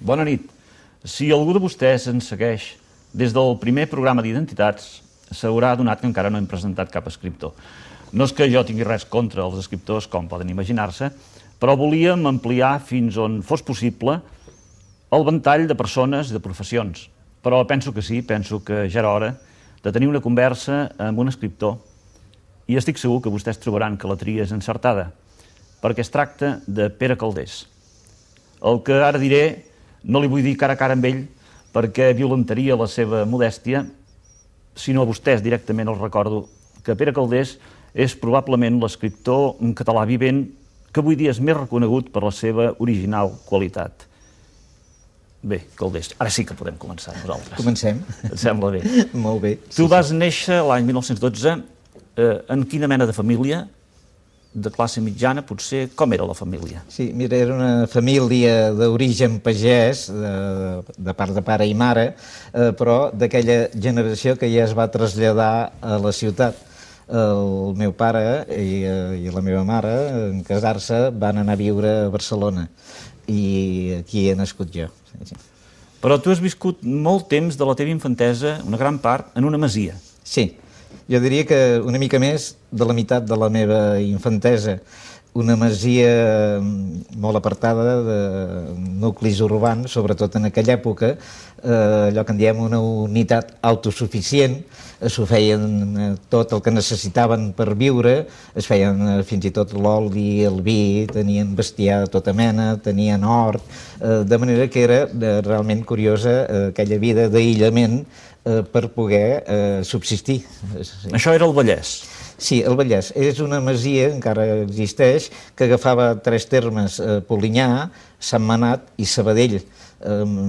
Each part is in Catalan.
Bona nit. Si algú de vostès ens segueix des del primer programa d'identitats, s'haurà adonat que encara no hem presentat cap escriptor. No és que jo tingui res contra els escriptors, com poden imaginar-se, però volíem ampliar fins on fos possible el ventall de persones i de professions. Però penso que sí, penso que ja era hora de tenir una conversa amb un escriptor i estic segur que vostès trobaran que la tria és encertada, perquè es tracta de Pere Calders. El que ara diré no li vull dir cara a cara amb ell perquè violentaria la seva modèstia, sinó a vostès directament els recordo que Pere Calders és probablement l'escriptor en català vivent que avui dia és més reconegut per la seva original qualitat. Bé, Calders, ara sí que podem començar nosaltres. Comencem. Et sembla bé? Molt bé. Tu vas néixer l'any 1912 en quina mena de família? De classe mitjana, potser, com era la família? Sí, mira, era una família d'origen pagès, de part de pare i mare, però d'aquella generació que ja es va traslladar a la ciutat. El meu pare i la meva mare, en casar-se, van anar a viure a Barcelona i aquí he nascut jo. Sí. Però tu has viscut molt temps de la teva infantesa, una gran part, en una masia. Sí. Jo diria que una mica més de la meitat de la meva infantesa. Una masia molt apartada de nuclis urbans, sobretot en aquella època, allò que en diem una unitat autosuficient, s'ho feien tot el que necessitaven per viure, es feien fins i tot l'oli, el vi, tenien bestiar de tota mena, tenien hort, de manera que era realment curiosa aquella vida d'aïllament per poder subsistir. Això era el Vallès. Sí, el Vallès. És una masia, encara existeix, que agafava tres termes, Polinyà, Sentmenat i Sabadell,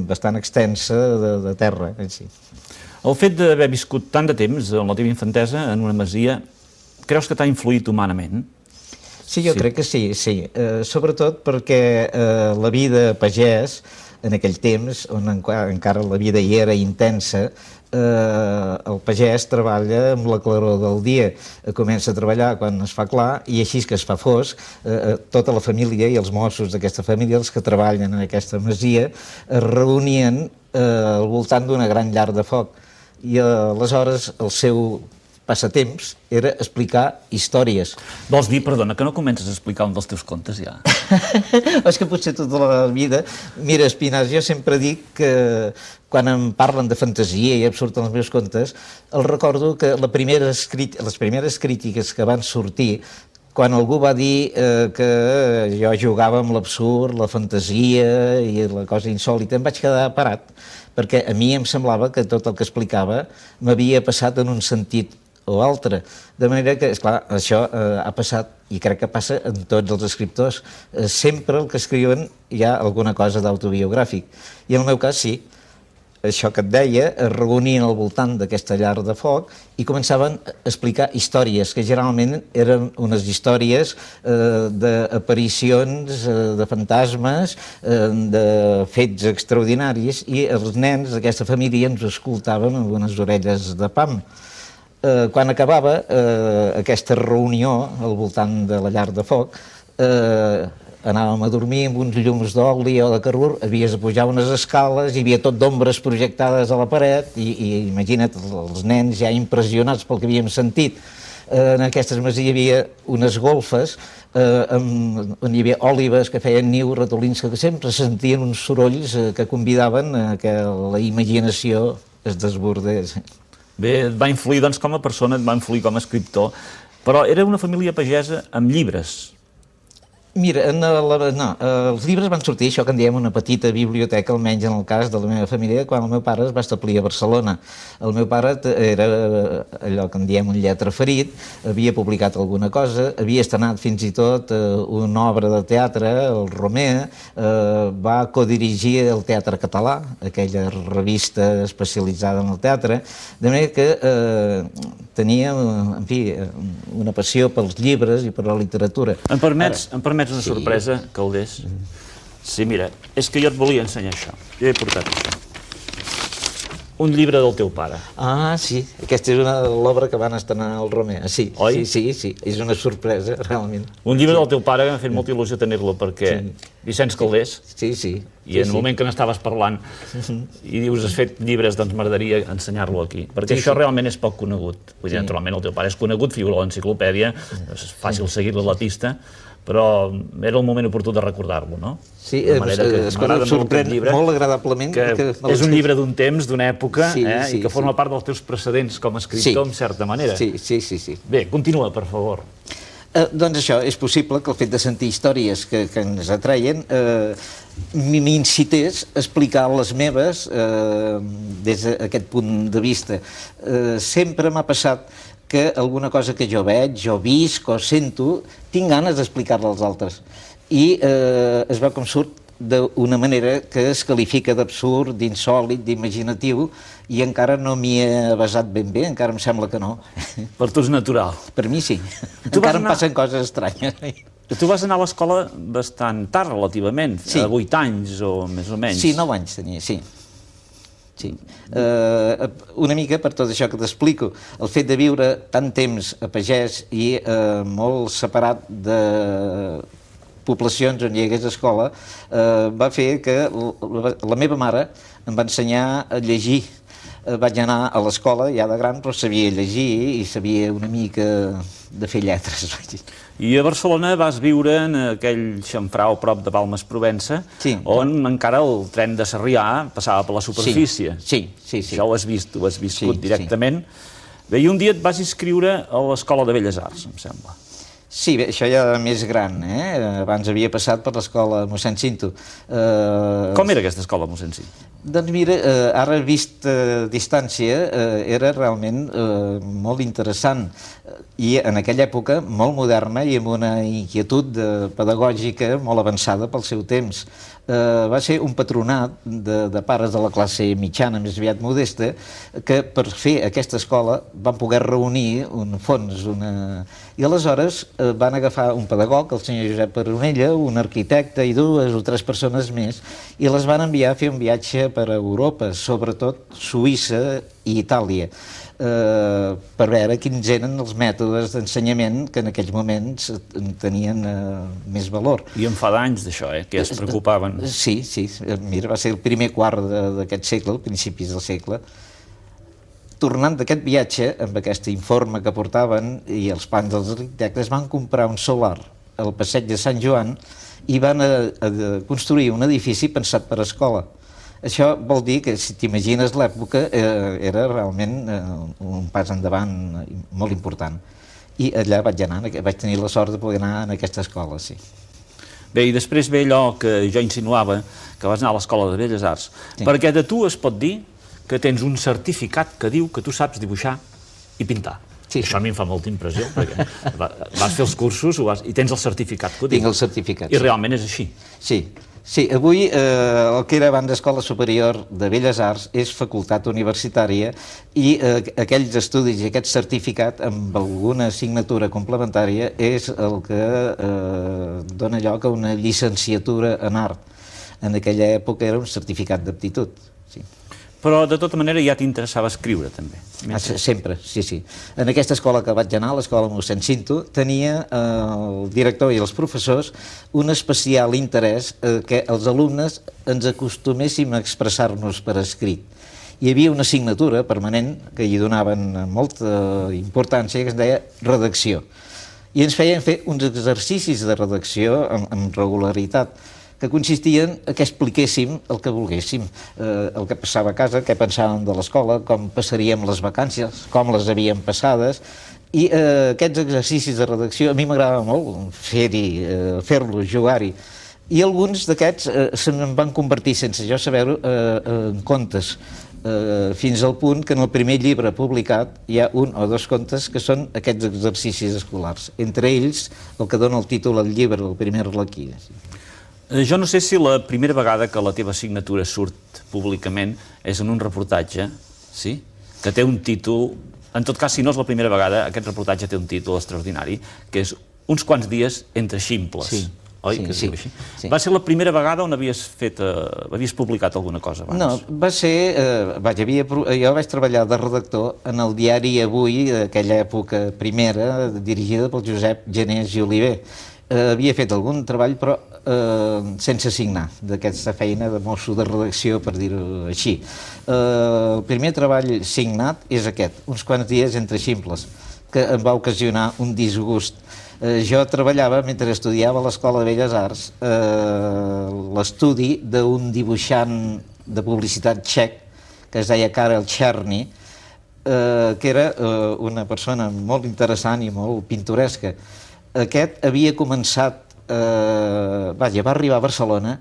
bastant extensa de terra. Sí. El fet d'haver viscut tant de temps en la teva infantesa en una masia, creus que t'ha influït humanament? Sí, jo crec que sí, sí. Sobretot perquè la vida pagès, en aquell temps, on encara la vida hi era intensa, el pagès treballa amb la claror del dia, comença a treballar quan es fa clar i així que es fa fosc, tota la família i els mossos d'aquesta família, els que treballen en aquesta masia, es reunien al voltant d'una gran llar de foc i aleshores el seu passatemps era explicar històries. Vols dir, perdona, que no comences a explicar un dels teus contes ja? És que potser tota la vida... Mira, Espinàs, jo sempre dic que quan em parlen de fantasia i em surten els meus contes, els recordo que les primeres crítiques que van sortir quan algú va dir que jo jugava amb l'absurd, la fantasia i la cosa insòlita, em vaig quedar parat, perquè a mi em semblava que tot el que explicava m'havia passat en un sentit o altre. De manera que, esclar, això ha passat, i crec que passa en tots els escriptors. Sempre el que escriuen hi ha alguna cosa d'autobiogràfic. I en el meu cas, sí. Això que et deia, es reunien al voltant d'aquesta llar de foc i començaven a explicar històries, que generalment eren unes històries d'aparicions, de fantasmes, de fets extraordinaris, i els nens d'aquesta família ens escoltaven amb unes orelles de pam. Quan acabava aquesta reunió al voltant de la llar de foc, anàvem a dormir amb uns llums d'oli o de carbur, havies de pujar unes escales, hi havia tot d'ombres projectades a la paret i imagina't, els nens ja impressionats pel que havíem sentit. En aquestes masies hi havia unes golfes on hi havia òlibes que feien niu, ratolins, que sempre sentien uns sorolls que convidaven a que la imaginació es desbordés. Bé, et va influir doncs, com a persona, et va influir com a escriptor, però era una família pagesa amb llibres. Mira, els llibres van sortir, això que en diem una petita biblioteca, almenys en el cas de la meva família, quan el meu pare es va establir a Barcelona. El meu pare era allò que en diem un lletraferit, havia publicat alguna cosa, havia estrenat fins i tot una obra de teatre, el Romer, va codirigir el Teatre Català, aquella revista especialitzada en el teatre, de manera que tenia, en fi, una passió pels llibres i per la literatura. Em permets una sorpresa, Calders? Sí, mira, és que jo et volia ensenyar això. Jo he portat això. Un llibre del teu pare. Ah, sí, aquesta és l'obra que van estrenar al Romer. Sí, oi? Sí, és una sorpresa, realment. Un llibre del teu pare, m'ha fet molta il·lusió tenir-lo, perquè Vicenç Calders, sí. i en el moment que n'estaves parlant, i dius, has fet llibres, doncs m'agradaria ensenyar-lo aquí, perquè això realment és poc conegut. Vull dir, naturalment, el teu pare és conegut, figura a l'enciclopèdia, és fàcil seguir-li la pista, però era el moment oportú de recordar-lo, no? Sí, es sorprèn molt agradablement. És un llibre d'un temps, d'una època, i que forma part dels teus precedents com a escriptor, en certa manera. Sí. Bé, continua, per favor. Doncs això, és possible que el fet de sentir històries que ens atreien m'incités a explicar les meves des d'aquest punt de vista. Sempre m'ha passat que alguna cosa que jo veig, jo visc o sento, tinc ganes d'explicar-la als altres. I es veu com surt d'una manera que es qualifica d'absurd, d'insòlit, d'imaginatiu, i encara no m'hi he basat ben bé, encara em sembla que no. Per tu és natural. Per mi sí. Encara em passen coses estranyes. Tu vas anar a l'escola bastant tard, relativament, a 8 anys o més o menys. Sí, 9 anys tenia, sí. Una mica per tot això que t'explico, el fet de viure tant temps a pagès i molt separat de poblacions on hi hagués escola va fer que la meva mare em va ensenyar a llegir. Vaig anar a l'escola ja de gran, però sabia llegir i sabia una mica de fer lletres. I a Barcelona vas viure en aquell xamfrau prop de Balmes, Provença, on encara el tren de Sarrià passava per la superfície. Sí. Això ho has vist, ho has viscut directament. Bé, i un dia et vas inscriure a l'Escola de Belles Arts, em sembla. Sí, bé, això ja més gran, abans havia passat per l'escola mossèn Cinto. Com era aquesta escola mossèn Cinto? Doncs mira, ara vist a distància era realment molt interessant i en aquella època molt moderna i amb una inquietud pedagògica molt avançada pel seu temps. Va ser un patronat de pares de la classe mitjana, més aviat modesta, que per fer aquesta escola van poder reunir un fons, i aleshores van agafar un pedagog, el senyor Josep Peronella, un arquitecte i 2 o 3 persones més, i les van enviar a fer un viatge per Europa, sobretot Suïssa i Itàlia, per veure quins eren els mètodes d'ensenyament que en aquells moments tenien més valor. I en fa d'anys d'això, que es preocupaven. Sí, mira, va ser el primer quart d'aquest segle, principis del segle. Tornant d'aquest viatge, amb aquest informe que portaven i els plans dels arquitectes, van comprar un solar al passeig de Sant Joan i van construir un edifici pensat per a escola. Això vol dir que, si t'imagines l'època, era realment un pas endavant molt important. I allà vaig anar, vaig tenir la sort de poder anar a aquesta escola, sí. Bé, i després ve allò que jo insinuava, que vas anar a l'Escola de Belles Arts, perquè de tu es pot dir que tens un certificat que diu que tu saps dibuixar i pintar. Això a mi em fa molta impressió, perquè vas fer els cursos i tens el certificat que ho diu. Tinc el certificat. I realment és així. Sí, avui el que era abans Escola Superior de Belles Arts és facultat universitària i aquells estudis i aquest certificat amb alguna assignatura complementària és el que dona lloc a una llicenciatura en art. En aquella època era un certificat d'aptitud. Però, de tota manera, ja t'interessava escriure, també. Sempre, sí. En aquesta escola que vaig anar, l'escola mossèn Cinto, tenia el director i els professors un especial interès que els alumnes ens acostuméssim a expressar-nos per escrit. Hi havia una assignatura permanent que hi donaven molta importància, que es deia redacció. I ens feien fer uns exercicis de redacció amb regularitat, que consistien que expliquéssim el que volguéssim, el que passava a casa, què pensàvem de l'escola, com passaríem les vacances, com les havíem passades, i aquests exercicis de redacció a mi m'agradava molt fer-los, jugar-hi, i alguns d'aquests se'n van convertir, sense jo saber-ho, en contes, fins al punt que en el primer llibre publicat hi ha 1 o 2 contes que són aquests exercicis escolars, entre ells el que dona el títol al llibre, el primer Arlequí. Jo no sé si la primera vegada que la teva signatura surt públicament és en un reportatge, sí? Que té un títol, en tot cas, si no és la primera vegada, aquest reportatge té un títol extraordinari, que és Uns quants dies entre ximples. oi? Que es diu així. Va ser la primera vegada on havies publicat alguna cosa abans? No, va ser... Jo vaig treballar de redactor en el diari Avui, d'aquella època primera, dirigida pel Josep Genés i Oliver. Havia fet algun treball, però sense signar, d'aquesta feina de mosso de redacció, per dir-ho així. El primer treball signat és aquest, uns quants dies entre ximples, que em va ocasionar un disgust. Jo treballava, mentre estudiava a l'Escola de Belles Arts, l'estudi d'un dibuixant de publicitat txec que es deia Karel Černý, que era una persona molt interessant i molt pintoresca. Aquest havia començat, va arribar a Barcelona,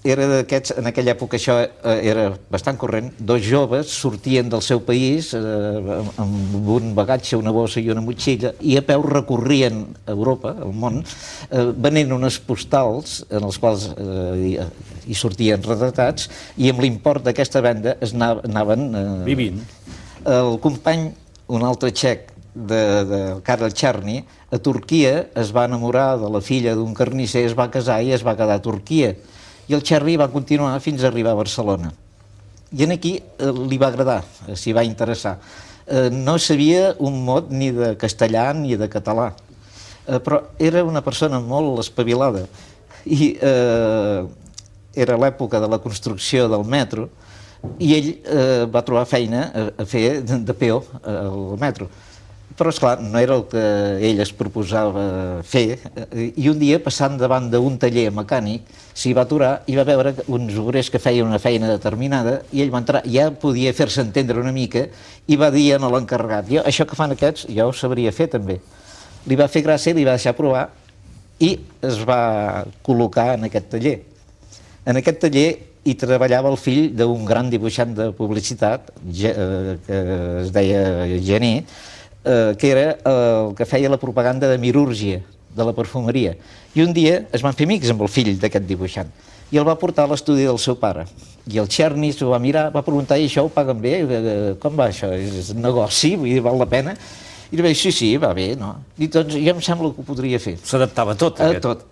era d'aquests, en aquella època això era bastant corrent, dos joves sortien del seu país amb un bagatge, una bossa i una motxilla i a peu recorrien Europa, el món, venent unes postals en els quals hi sortien retratats i amb l'import d'aquesta venda anaven... Vivint. El company, un altre txec, de Karel Černý, a Turquia es va enamorar de la filla d'un carnisser, es va casar i es va quedar a Turquia. I el Černý va continuar fins a arribar a Barcelona. I aquí li va agradar, s'hi va interessar. No sabia un mot ni de castellà ni de català, però era una persona molt espavilada. I era l'època de la construcció del metro i ell va trobar feina a fer de peó al metro. Però, esclar, no era el que ell es proposava fer, i un dia, passant davant d'un taller mecànic, s'hi va aturar i va veure uns obrers que feien una feina determinada i ell va entrar, ja podia fer-se entendre una mica, i va dir a l'encarregat: això que fan aquests, jo ho sabria fer també. Li va fer gràcia, li va deixar provar i es va col·locar en aquest taller. En aquest taller hi treballava el fill d'un gran dibuixant de publicitat, que es deia Gené, que era el que feia la propaganda de Mirúrgia, de la perfumeria. I un dia es van fer amics amb el fill d'aquest dibuixant i el va portar a l'estudi del seu pare. I el Černý s'ho va mirar, va preguntar: i això ho paguen bé? Com va això? És un negoci? Vull dir, val la pena? I li va dir: sí, va bé, no? I doncs jo em sembla que ho podria fer. S'adaptava a tot, aquest. A tot.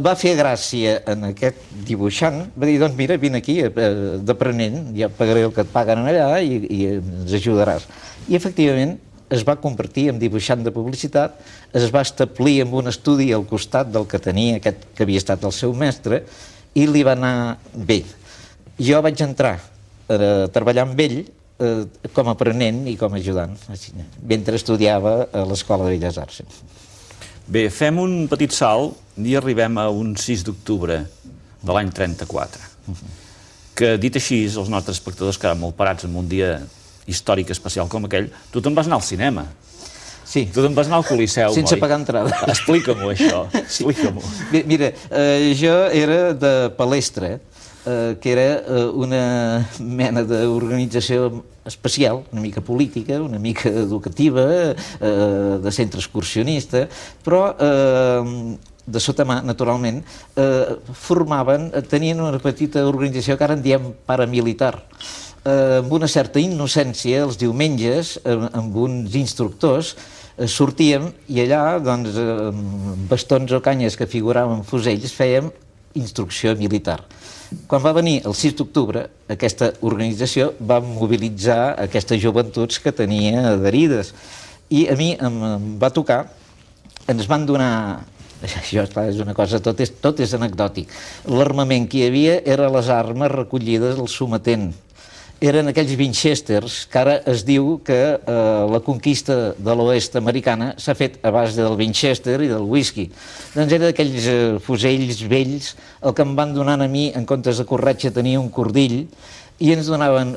Va fer gràcia en aquest dibuixant, va dir: doncs mira, vine aquí d'aprenent, ja pagaré el que et paguen allà i ens ajudaràs. I efectivament es va convertir en dibuixant de publicitat, es va establir en un estudi al costat del que tenia aquest que havia estat el seu mestre i li va anar bé. Jo vaig entrar a treballar amb ell com a aprenent i com a ajudant, mentre estudiava a l'Escola de Belles Arts. Bé, fem un petit salt i arribem a un 6 d'octubre de l'any 34, que, dit així, els nostres espectadors quedaran molt parats en un dia històric especial com aquell. Tu te'n vas anar al cinema. Sí. Tu te'n vas anar al Coliseu, sense pagar entrada. Explica-m'ho, això. Explica-m'ho. Mira, jo era de Palestra, que era una mena d'organització especial, una mica política, una mica educativa, de centre excursionista, però de sota mà, naturalment, tenien una petita organització que ara en diem paramilitar, amb una certa innocència. Els diumenges, amb uns instructors, sortíem i allà, doncs, amb bastons o canyes que figuraven fusells, fèiem instrucció militar. Quan va venir el 6 d'octubre, aquesta organització va mobilitzar aquestes joventuts que tenia adherides. I a mi em va tocar, ens van donar... Això, clar, és una cosa, tot és anecdòtic. L'armament que hi havia eren les armes recollides al sometent. Eren aquells Winchesters, que ara es diu que la conquista de l'oest americana s'ha fet a base del Winchester i del whisky. Doncs eren aquells fusells vells. El que em van donant a mi, en comptes de corretja, tenia un cordill, i ens donaven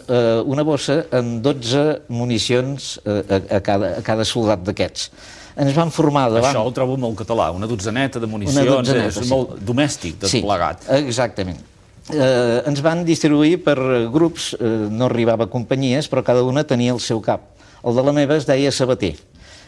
una bossa amb 12 municions a cada soldat d'aquests. Ens van formar davant... Això ho trobo molt català, una dotzeneta de municions, és molt domèstic, tot plegat. Sí, exactament. Ens van distribuir per grups, no arribava a companyies, però cada una tenia el seu cap. El de la meva es deia Sabater.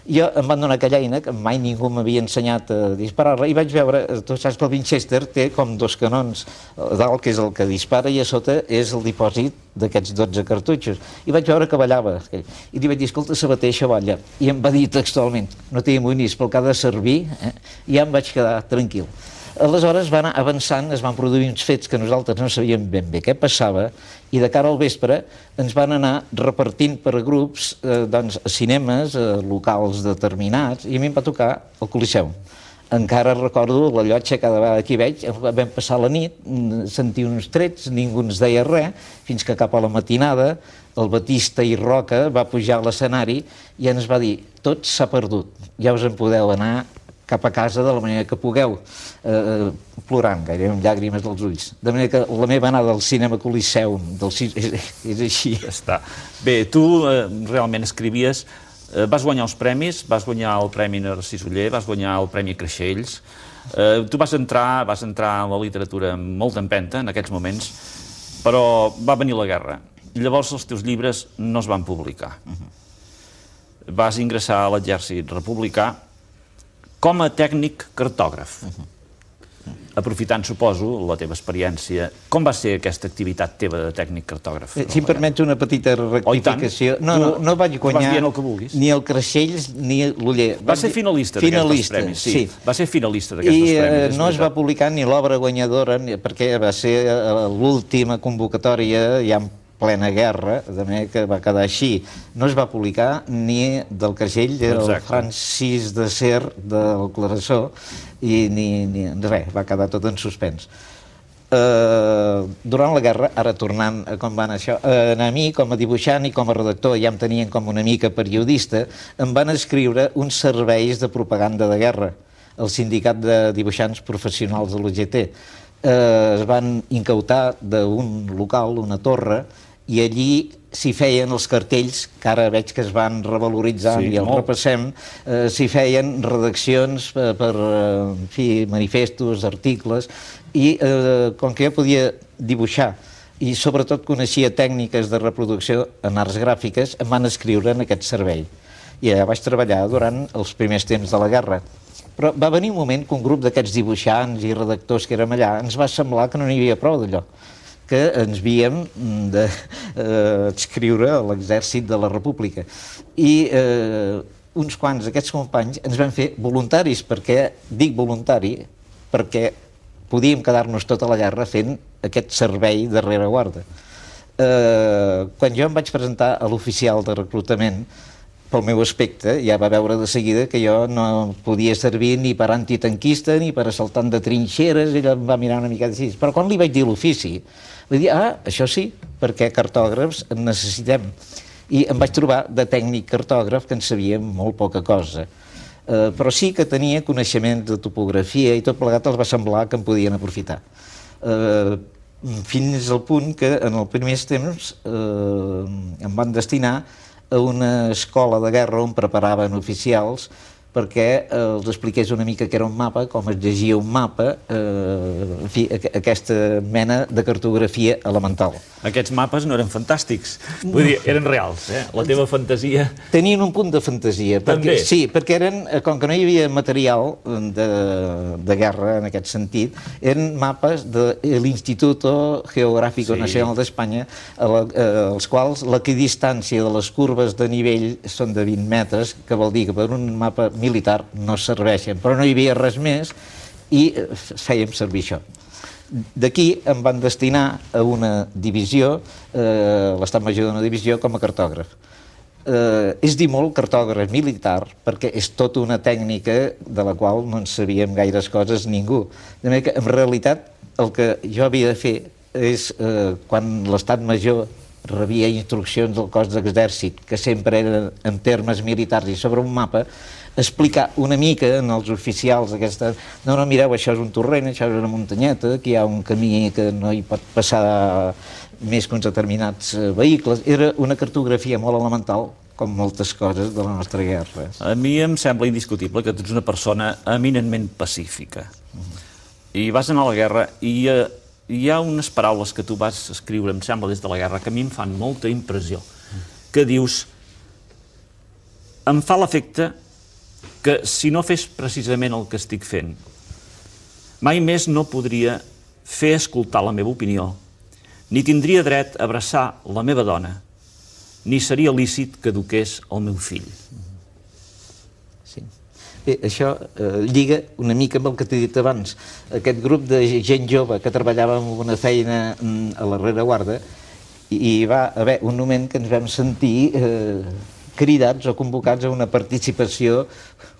Jo em van donar aquella eina, que mai ningú m'havia ensenyat a disparar-la, i vaig veure, tu saps que el Winchester té com dos canons, dalt, que és el que dispara, i a sota és el dipòsit d'aquests 12 cartutxos. I vaig veure que ballava. I li vaig dir: escolta, Sabater, això balla. I em va dir textualment: no t'hi amoïnis, pel que ha de servir, i ja em vaig quedar tranquil. Aleshores va anar avançant, es van produir uns fets que nosaltres no sabíem ben bé què passava, i de cara al vespre ens van anar repartint per grups doncs, a cinemes, a locals determinats, i a mi em va tocar el Coliseum. Encara recordo la llotja, cada vegada que hi veig, vam passar la nit, sentir uns trets, ningú ens deia res, fins que cap a la matinada el Batista i Roca va pujar a l'escenari i ens va dir: tot s'ha perdut, ja us en podeu anar cap a casa de la manera que pugueu, plorant, gairebé amb llàgrimes dels ulls. De manera que la meva anada al cinema Coliseum és així. Ja està. Bé, tu realment escrivies, vas guanyar els premis, vas guanyar el Premi Narcís Oller, vas guanyar el Premi Creixells. Tu vas entrar en la literatura amb molta empenta en aquests moments, però va venir la guerra. Llavors els teus llibres no es van publicar. Vas ingressar a l'exèrcit republicà com a tècnic cartògraf. Aprofitant, suposo, la teva experiència, com va ser aquesta activitat teva de tècnic cartògraf? Si em permets una petita rectificació. No vaig guanyar ni el Creixells ni l'Oller. Va ser finalista d'aquests premis, sí. Va ser finalista d'aquests premis. I no es va publicar ni l'obra guanyadora, perquè va ser l'última convocatòria, ja en plena guerra, de manera que va quedar així. No es va publicar ni del Creixell, del Francis de Ser, del Clarasó, i ni res, va quedar tot en suspens. Durant la guerra, ara tornant a com va anar això, a mi, com a dibuixant i com a redactor, ja em tenien com una mica periodista, em van escriure uns serveis de propaganda de guerra, el Sindicat de Dibuixants Professionals de l'UGT. Es van incautar d'un local, una torre, i allí s'hi feien els cartells, que ara veig que es van revaloritzant i els repassem, s'hi feien redaccions per manifestos, articles, i com que jo podia dibuixar i sobretot coneixia tècniques de reproducció en arts gràfiques, em van escriure en aquest servei. I allà vaig treballar durant els primers temps de la guerra. Però va venir un moment que un grup d'aquests dibuixants i redactors que érem allà ens va semblar que no n'hi havia prou d'allò, que ens havíem d'adscriure a l'exèrcit de la República. I uns quants d'aquests companys ens vam fer voluntaris, perquè dic voluntari, perquè podíem quedar-nos tota la guerra fent aquest servei de rereguarda. Quan jo em vaig presentar a l'oficial de reclutament, pel meu aspecte, ja va veure de seguida que jo no podia servir ni per antitanquista ni per assaltant de trinxeres, ell em va mirar una mica així. Però quan li vaig dir l'ofici, li vaig dir, això sí, perquè cartògrafs en necessitem. I em vaig trobar de tècnic cartògraf que en sabia molt poca cosa. Però sí que tenia coneixement de topografia i tot plegat els va semblar que em podien aprofitar. Fins al punt que en els primers temps em van destinar a una escola de guerra on preparaven oficials perquè els expliqués una mica què era un mapa, com es llegia un mapa, en fi, aquesta mena de cartografia elemental. Aquests mapes no eren fantàstics, vull dir, eren reals, la teva fantasia... Tenien un punt de fantasia. També? Sí, perquè eren, com que no hi havia material de guerra en aquest sentit, eren mapes de l'Instituto Geográfico Nacional d'Espanya, els quals l'equidistància de les curves de nivell són de 20 metres, que vol dir que per un mapa militar no serveixen, però no hi havia res més i fèiem servir això. D'aquí em van destinar a una divisió, l'estat major d'una divisió, com a cartògraf. És dir molt cartògraf militar perquè és tota una tècnica de la qual no en sabíem gaires coses ningú. De manera que, en realitat, el que jo havia de fer és, quan l'estat major rebia instruccions del cos d'exèrcit, que sempre eren en termes militars i sobre un mapa, explicar una mica als oficials aquesta... No, mireu, això és un torrent, això és una muntanyeta, aquí hi ha un camí que no hi pot passar més que uns determinats vehicles. Era una cartografia molt elemental, com moltes coses de la nostra guerra. A mi em sembla indiscutible que tu ets una persona eminentment pacífica. I vas anar a la guerra i hi ha unes paraules que tu vas escriure, em sembla, des de la guerra, que a mi em fan molta impressió, que dius: em fa l'efecte que si no fes precisament el que estic fent, mai més no podria fer escoltar la meva opinió, ni tindria dret a abraçar la meva dona, ni seria lícit que eduqués el meu fill. Sí. Bé, això lliga una mica amb el que t'he dit abans. Aquest grup de gent jove que treballava en una feina a la rereguarda, i va haver un moment que ens vam sentir cridats o convocats a una participació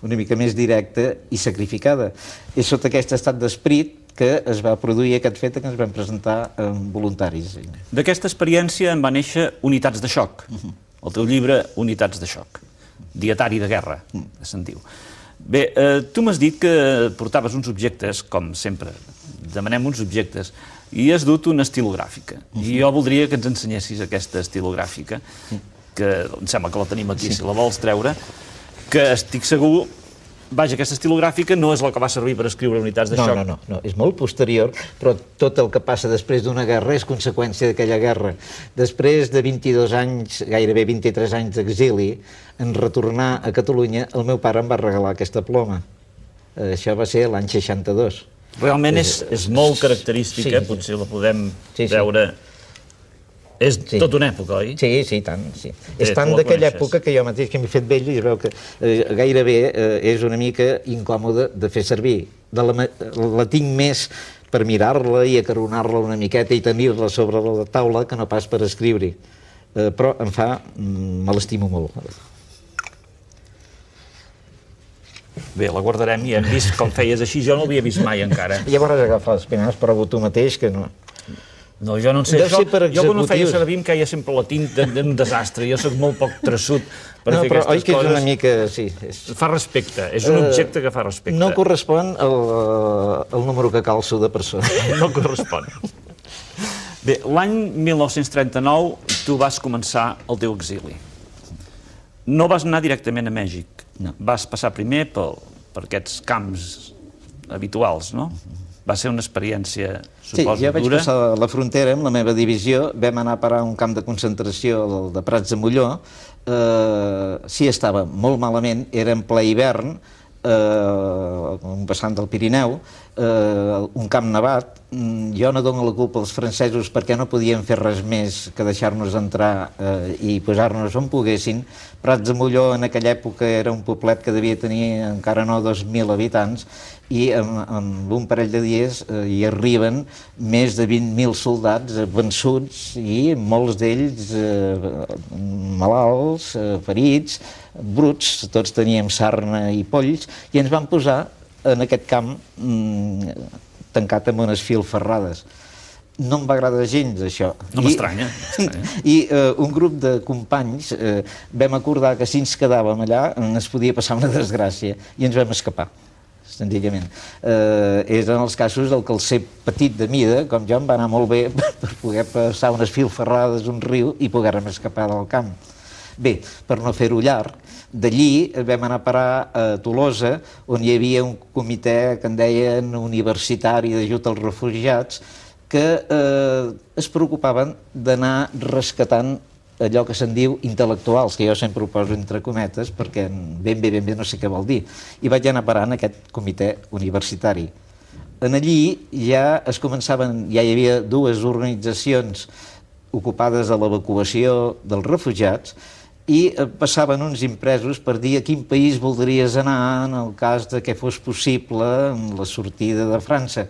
una mica més directa i sacrificada. És sota aquest estat d'esperit que es va produir aquest fet que ens vam presentar voluntaris. D'aquesta experiència en va néixer Unitats de xoc, el teu llibre Unitats de xoc, dietari de guerra, se'n diu. Bé, tu m'has dit que portaves uns objectes, com sempre, demanem uns objectes, i has dut una estilogràfica. I jo voldria que ens ensenyessis aquesta estilogràfica, que em sembla que la tenim aquí, si la vols treure, que estic segur... Vaja, aquesta estilogràfica no és la que va servir per escriure Unitats de xoc. No, és molt posterior, però tot el que passa després d'una guerra és conseqüència d'aquella guerra. Després de 22 anys, gairebé 23 anys d'exili, en retornar a Catalunya, el meu pare em va regalar aquesta ploma. Això va ser l'any 62. Realment és molt característica, potser la podem veure... És tota una època, oi? Sí, tant. És tant d'aquella època que jo mateix que m'he fet vell i es veu que gairebé és una mica incòmode de fer servir. La tinc més per mirar-la i acaronar-la una miqueta i tenir-la sobre la taula que no pas per escriure-hi. Però em fa... me l'estimo molt. Bé, la guardarem i hem vist com feies així. Jo no l'havia vist mai encara. Llavors agafar les penes, prova tu mateix que no... No, jo no en sé això. Jo quan ho feia servir em queia sempre la tinta d'un desastre. Jo soc molt poc traçut per fer aquestes coses. No, però oi que és una mica... Sí. Fa respecte, és un objecte que fa respecte. No correspon al número que calço de persona. No correspon. Bé, l'any 1939 tu vas començar el teu exili. No vas anar directament a Mèxic. Vas passar primer per aquests camps habituals, no? Va ser una experiència, suposo, dura. Sí, jo vaig passar la frontera amb la meva divisió, vam anar a parar a un camp de concentració de Prats de Molló. Sí, estava molt malament, era en ple hivern, un vessant del Pirineu, un camp nevat. Jo no dono la culpa als francesos perquè no podien fer res més que deixar-nos entrar i posar-nos on poguessin. Prats de Molló en aquella època era un poblet que devia tenir encara no 2.000 habitants i en un parell de dies hi arriben més de 20.000 soldats vençuts i molts d'ells malalts, ferits, bruts, tots teníem sarna i polls, i ens van posar en aquest camp tancat amb unes filferrades. No em va agradar gens, això. No m'estranya. I un grup de companys vam acordar que si ens quedàvem allà ens podia passar una desgràcia i ens vam escapar, senzillament. Eren els casos del que el ser petit de mida, com jo, em va anar molt bé per poder passar unes filferrades, un riu, i poder-me escapar del camp. Bé, per no fer-ho llarg, d'allí vam anar a parar a Tolosa, on hi havia un comitè que en deien universitari d'ajut als refugiats, que es preocupaven d'anar rescatant allò que se'n diu intel·lectuals, que jo sempre ho poso entre cometes, perquè ben bé no sé què vol dir. I vaig anar a parar en aquest comitè universitari. En allí ja hi havia dues organitzacions ocupades a l'evacuació dels refugiats, i passaven uns impresos per dir a quin país voldries anar en el cas de que fos possible la sortida de França.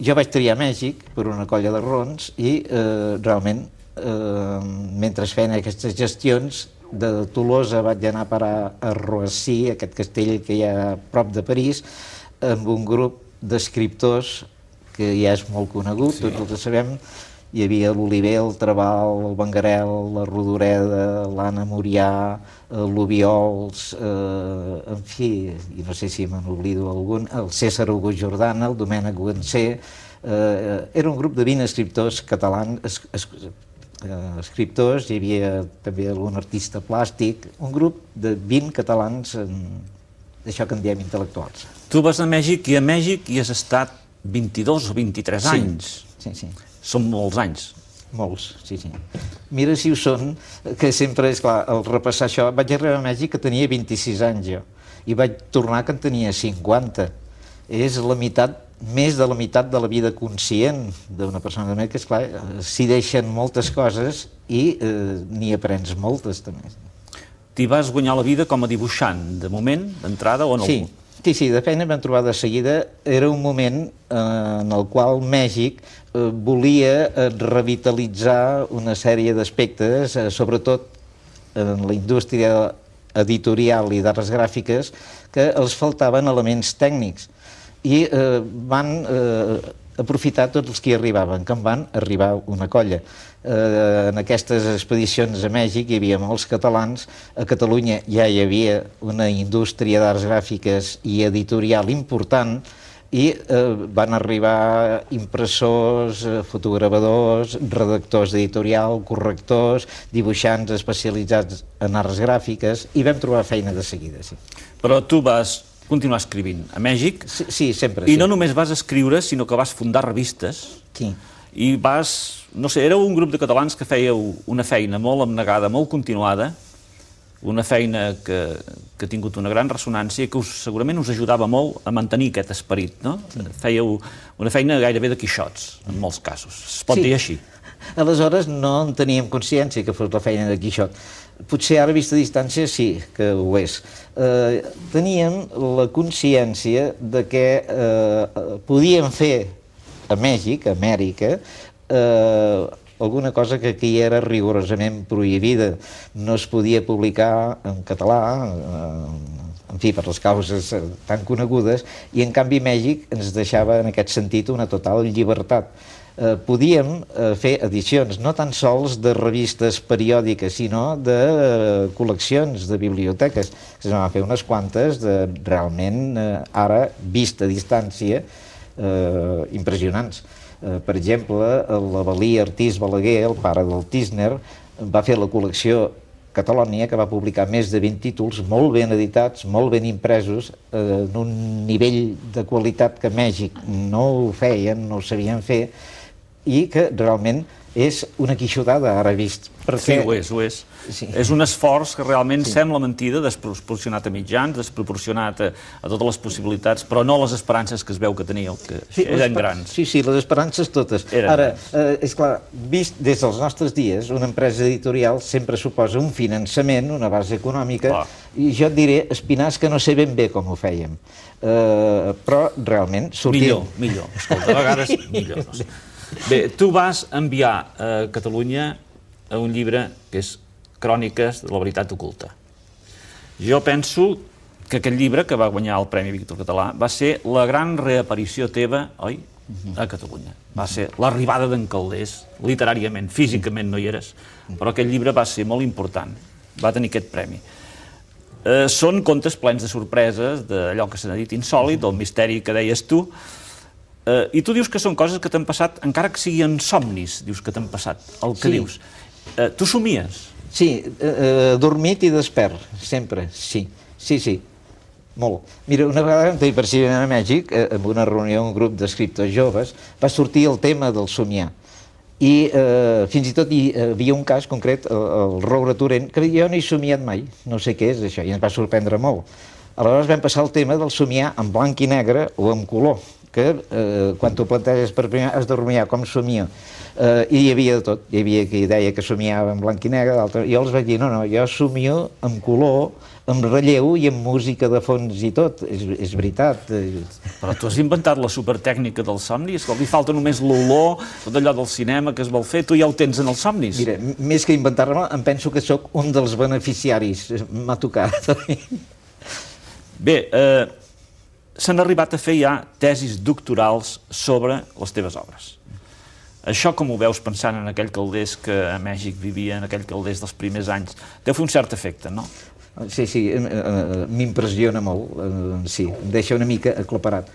Jo vaig triar Mèxic per una colla de rons i realment, mentre feien aquestes gestions, de Tolosa vaig anar a parar a Roissy, aquest castell que hi ha a prop de París, amb un grup d'escriptors que ja és molt conegut, tots els sabem. Hi havia l'Oliver, el Trabal, el Bangarel, la Rodoreda, l'Anna Murià, l'Obiols, en fi, i no sé si me n'oblido algun, el César August Jordana, el Domènec Guansé. Era un grup de 20 escriptors catalans, escriptors, hi havia també algun artista plàstic, un grup de 20 catalans, d'això que en diem intel·lectuals. Tu vas a Mèxic i a Mèxic hi has estat 22 o 23 anys. Sí. Són molts anys. Molts, sí. Mira si ho són, que sempre, és clar, al repassar això, vaig arribar a Mèxic que tenia 26 anys jo, i vaig tornar que en tenia 50. És la meitat, més de la meitat de la vida conscient d'una persona, que, esclar, s'hi deixen moltes coses i n'hi aprens moltes, també. t'hi vas guanyar la vida com a dibuixant, de moment, d'entrada o no? Sí, de feina vam trobar de seguida. Era un moment en el qual Mèxic volia revitalitzar una sèrie d'aspectes, sobretot en la indústria editorial i d'arts gràfiques, que els faltaven elements tècnics. I van aprofitar tots els que hi arribaven, que en van arribar una colla. En aquestes expedicions a Mèxic hi havia molts catalans, a Catalunya ja hi havia una indústria d'arts gràfiques i editorial important, i van arribar impressors, fotogravadors, redactors d'editorial, correctors, dibuixants especialitzats en arts gràfiques, i vam trobar feina de seguida, sí. Però tu vas continuar escrivint a Mèxic. Sí, sempre. I no només vas escriure, sinó que vas fundar revistes. Sí. I vas, no sé, éreu un grup de catalans que fèieu una feina molt abnegada, molt continuada, una feina que ha tingut una gran ressonància i que segurament us ajudava molt a mantenir aquest esperit, no? Fèieu una feina gairebé de quixots, en molts casos. Es pot dir així. Aleshores no en teníem consciència que fos la feina de quixot. Potser ara, vista a distància, sí que ho és. Teníem la consciència de que podíem fer a Mèxic, a Amèrica, alguna cosa que aquí era rigorosament prohibida. No es podia publicar en català, en fi, per les causes tan conegudes, i en canvi Mèxic ens deixava en aquest sentit una total llibertat. Podíem fer edicions, no tan sols de revistes periòdiques, sinó de col·leccions, de biblioteques. Se van fer unes quantes, realment, ara, vist a distància, impressionants. Per exemple, l'Avelí Artís Balaguer, el pare del Tísner, va fer la col·lecció Catalònia, que va publicar més de 20 títols, molt ben editats, molt ben impresos, en un nivell de qualitat que Mèxic no ho feien, no ho sabien fer, i que realment és una quixotada, ara vist. Sí, ho és. És un esforç que realment sembla mentida, desproporcionat a mitjans, desproporcionat a totes les possibilitats, però no les esperances que es veu que teníeu, que eren grans. Sí, les esperances totes. Ara, és clar, vist des dels nostres dies, una empresa editorial sempre suposa un finançament, una base econòmica, i jo et diré, Espinàs, que no sé ben bé com ho fèiem. Però realment sortim... Millor. Escolta, a vegades millor. Bé, tu vas enviar a Catalunya a un llibre que és Cròniques de la veritat oculta. Jo penso que aquest llibre, que va guanyar el Premi Víctor Català, va ser la gran reaparició teva, oi?, a Catalunya. Va ser l'arribada d'en Calders, literàriament, físicament no hi eres, però aquest llibre va ser molt important, va tenir aquest premi. Són contes plens de sorpreses, d'allò que se n'ha dit insòlit, del misteri que deies tu, i tu dius que són coses que t'han passat, encara que siguin somnis, dius que t'han passat, el que dius. Tu somies? Sí, dormit i despert, sempre, sí, molt. Mira, una vegada vam tenir precisament a Mèxic, en una reunió, un grup d'escriptors joves, va sortir el tema del somiar. I fins i tot hi havia un cas concret, el Roure Torrent, que jo no he somiat mai, no sé què és això, i ens va sorprendre molt. Aleshores vam passar el tema del somiar en blanc i negre o en color, que quan t'ho planteges per primer has de rumiar com somia. I hi havia de tot, hi havia qui deia que somiava en blanc i negre, i jo els vaig dir, no, jo somio en color, en relleu i en música de fons i tot, és veritat. Però tu has inventat la supertècnica dels somnis, li falta només l'olor, tot allò del cinema que es vol fer, tu ja ho tens en els somnis. Mira, més que inventar-me, em penso que sóc un dels beneficiaris, m'ha tocat. Bé, s'han arribat a fer ja tesis doctorals sobre les teves obres. Això com ho veus pensant en aquell Calders que a Mèxic vivia, en aquell Calders dels primers anys? Deu fer un cert efecte, no? Sí, m'impressiona molt, sí, em deixa una mica aclaparat.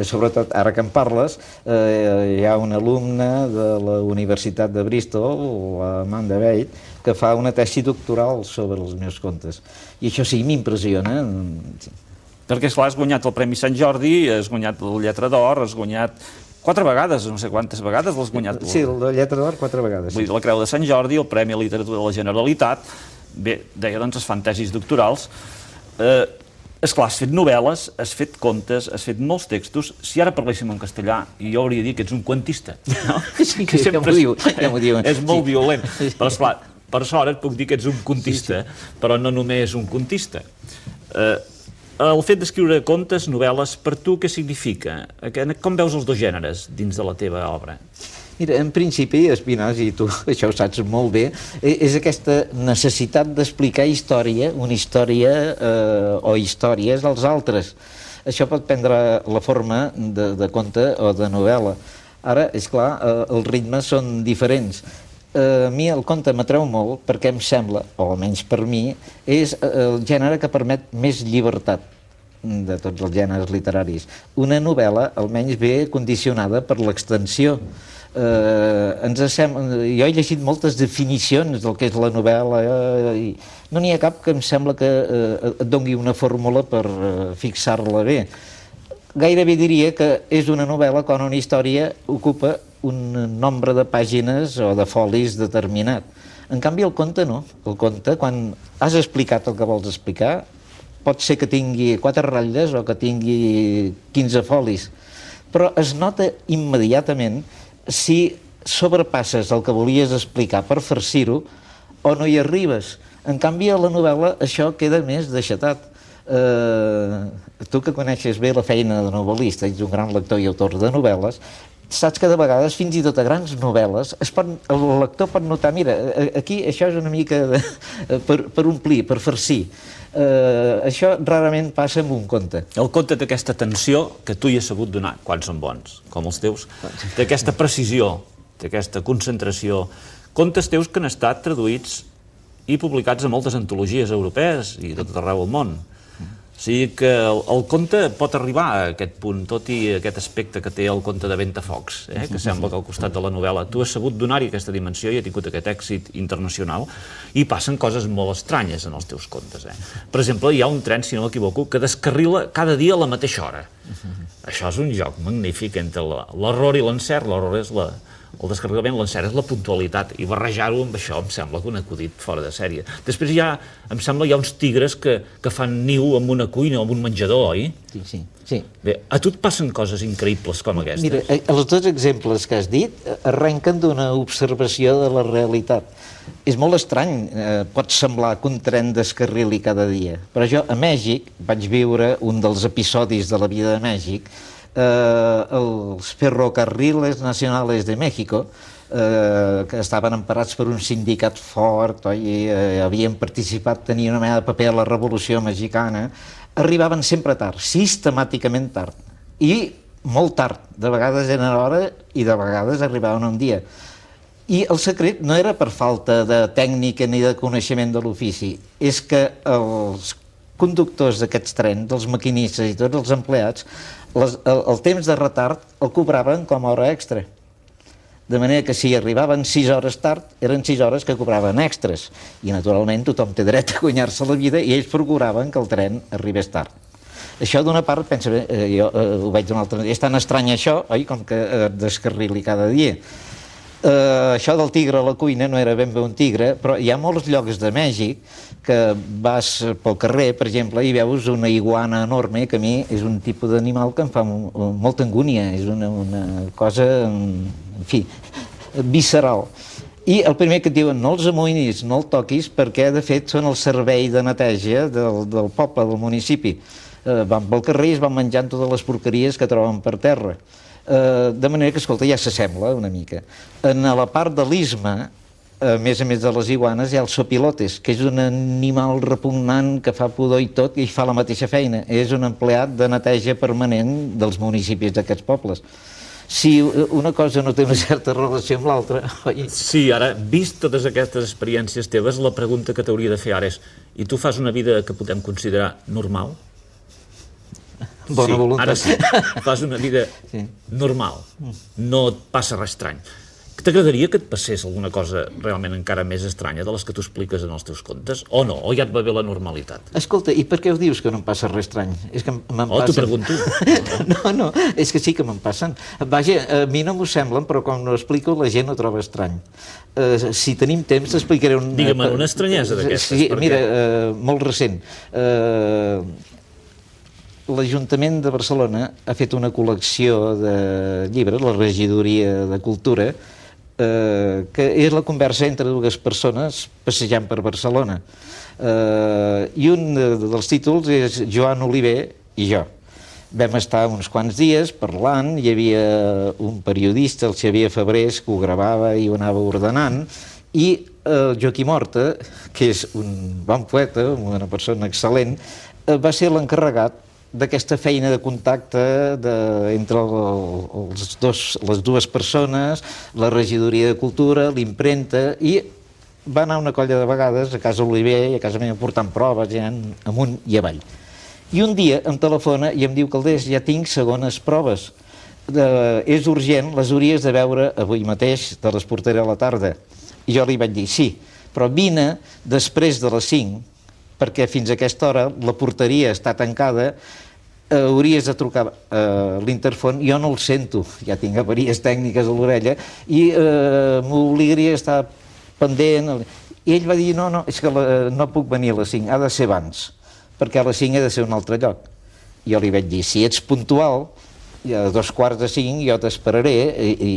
Sobretot, ara que en parles, hi ha una alumna de la Universitat de Bristol, l'Amanda Bate, que fa una tesi doctoral sobre els meus contes. I això sí, m'impressiona. Perquè, esclar, has guanyat el Premi Sant Jordi, has guanyat la Lletra d'Or, has guanyat 4 vegades, no sé quantes vegades l'has guanyat. Sí, la Lletra d'Or 4 vegades. Vull dir, la Creu de Sant Jordi, el Premi a Literatura de la Generalitat. Bé, deia, doncs, es fan tesis doctorals. Esclar, has fet novel·les, has fet contes, has fet molts textos. Si ara parléssim en castellà, jo hauria dit que ets un quantista, no? Sí, ja m'ho diuen. És molt violent. Però, esclar, Per sort et puc dir que ets un contista, però no només un contista. El fet d'escriure contes, novel·les, per tu què significa? Com veus els dos gèneres dins de la teva obra? Mira, en principi, Espinàs, i tu això ho saps molt bé, és aquesta necessitat d'explicar història, una història o històries als altres. Això pot prendre la forma de conte o de novel·la. Ara, és clar, els ritmes són diferents. A mi el conte m'atreu molt perquè em sembla, o almenys per mi, és el gènere que permet més llibertat de tots els gèneres literaris. Una novel·la almenys ve condicionada per l'extensió. Jo he llegit moltes definicions del que és la novel·la i no n'hi ha cap que em sembla que et doni una fórmula per fixar-la bé. Gairebé diria que és una novel·la quan una història ocupa un nombre de pàgines o de folis determinat. En canvi, el conte no. El conte, quan has explicat el que vols explicar, pot ser que tingui 4 ratlles o que tingui 15 folis, però es nota immediatament si sobrepasses el que volies explicar per farcir-ho o no hi arribes. En canvi, a la novel·la això queda més deixatat. Tu que coneixes bé la feina de novel·lista, ets un gran lector i autor de novel·les, saps que de vegades, fins i tot a grans novel·les, el lector pot notar, mira, aquí això és una mica per omplir, per farcir. Això rarament passa en un conte. El conte té aquesta tensió que tu hi has sabut donar, quan són bons, com els teus, té aquesta precisió, té aquesta concentració. Contes teus que han estat traduïts i publicats a moltes antologies europees i de tot arreu del món. O sigui que el conte pot arribar a aquest punt, tot i aquest aspecte que té el conte de Ventafocs, que sembla que al costat de la novel·la tu has sabut donar-hi aquesta dimensió i ha tingut aquest èxit internacional, i passen coses molt estranyes en els teus contes. Per exemple, hi ha un tren, si no m'equivoco, que descarrila cada dia a la mateixa hora. Això és un joc magnífic entre l'error i l'encert. L'error és el descarregament, l'encert és la puntualitat, i barrejar-ho amb això em sembla que un acudit fora de sèrie. Després em sembla hi ha uns tigres que fan niu en una cuina o en un menjador, oi? Sí. Bé, a tu et passen coses increïbles com aquestes? Mira, els 2 exemples que has dit arrenquen d'una observació de la realitat. És molt estrany, pot semblar que un tren descarrili cada dia, però jo a Mèxic vaig viure un dels episodis de la vida de Mèxic. Els ferrocarriles nacionales de México, que estaven emparats per un sindicat fort i havien participat, tenien una mena de paper a la Revolució Mexicana, arribaven sempre tard, sistemàticament tard, i molt tard, de vegades eren a hora i de vegades arribaven un dia. I el secret no era per falta de tècnica ni de coneixement de l'ofici, és que els conductors d'aquests trens, els maquinistes i tots els empleats, el temps de retard el cobraven com a hora extra. De manera que si arribaven 6 hores tard, eren 6 hores que cobraven extras. I naturalment tothom té dret a guanyar-se la vida i ells procuraven que el tren arribés tard. Això d'una part, pensa bé, jo ho veig d'una altra manera, és tan estrany això, oi, com que descarrili cada dia. Això del tigre a la cuina no era ben bé un tigre, però hi ha molts llocs de Mèxic que vas pel carrer, per exemple, i veus una iguana enorme, que a mi és un tipus d'animal que em fa molta angúnia, és una cosa, en fi, visceral. I el primer que et diuen, no els amoïnis, no el toquis, perquè de fet són el servei de neteja del poble, del municipi. Van pel carrer i es van menjant totes les porqueries que troben per terra. De manera que, escolta, ja s'assembla una mica. En la part de l'isme, a més de les iguanes, hi ha els sopilotes, que és un animal repugnant que fa pudor i tot i fa la mateixa feina. És un empleat de neteja permanent dels municipis d'aquests pobles. Si una cosa no té una certa relació amb l'altra... Sí, ara, vist totes aquestes experiències teves, la pregunta que t'hauria de fer ara és: i tu fas una vida que podem considerar normal? Bona voluntat. Ara sí, fas una vida normal, no et passa res estrany. T'agradaria que et passés alguna cosa realment encara més estranya de les que tu expliques en els teus contes, o no? O ja et va bé la normalitat? Escolta, i per què ho dius que no em passa res estrany? És que me'n passen... t'ho pregunto. No, és que sí que me'n passen. Vaja, a mi no m'ho semblen, però quan ho explico la gent ho troba estrany. Si tenim temps t'explicaré un... Digue'm una estranyesa d'aquestes. Sí, mira, molt recent. L'Ajuntament de Barcelona ha fet una col·lecció de llibres, la Regidoria de Cultura, que és la conversa entre dues persones passejant per Barcelona. I un dels títols és Joan Oliver i jo. Vam estar uns quants dies parlant, hi havia un periodista, el Xavier Febrés, que ho gravava i ho anava ordenant, i el Joaquim Horta, que és un bon poeta, una persona excel·lent, va ser l'encarregat d'aquesta feina de contacte entre les dues persones, la regidoria de cultura, l'impremta, i va anar una colla de vegades a casa Oliver i a casa meva portant proves, ja amunt i avall. I un dia em telefona i em diu: Calders, ja tinc segones proves. És urgent, les hauries de veure avui mateix, te les portaré a la tarda. I jo li vaig dir: sí, però vine després de les 5, perquè fins a aquesta hora la porteria està tancada, hauries de trucar a l'interfon, jo no el sento, ja tinc avaries tècniques a l'orella, i m'obligaria a estar pendent. I ell va dir: no, és que no puc venir a les 5, ha de ser abans, perquè a les 5 he de ser a un altre lloc. I jo li vaig dir: si ets puntual, a 2:45 jo t'esperaré i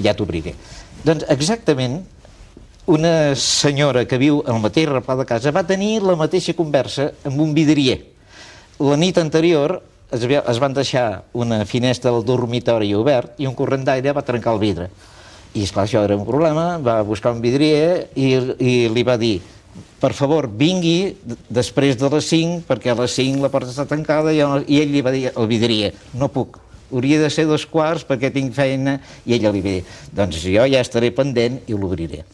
ja t'obriré. Doncs exactament, una senyora que viu al mateix replà de casa va tenir la mateixa conversa amb un vidrier. La nit anterior es van deixar una finestra del dormitori obert i un corrent d'aire va trencar el vidre. I esclar, això era un problema, va buscar un vidrier i li va dir: per favor, vingui després de les 5, perquè a les 5 la porta està tancada. I ell li va dir al vidrier: no puc, hauria de ser 2:15 perquè tinc feina. I ella li va dir: doncs jo ja estaré pendent i l'obriré.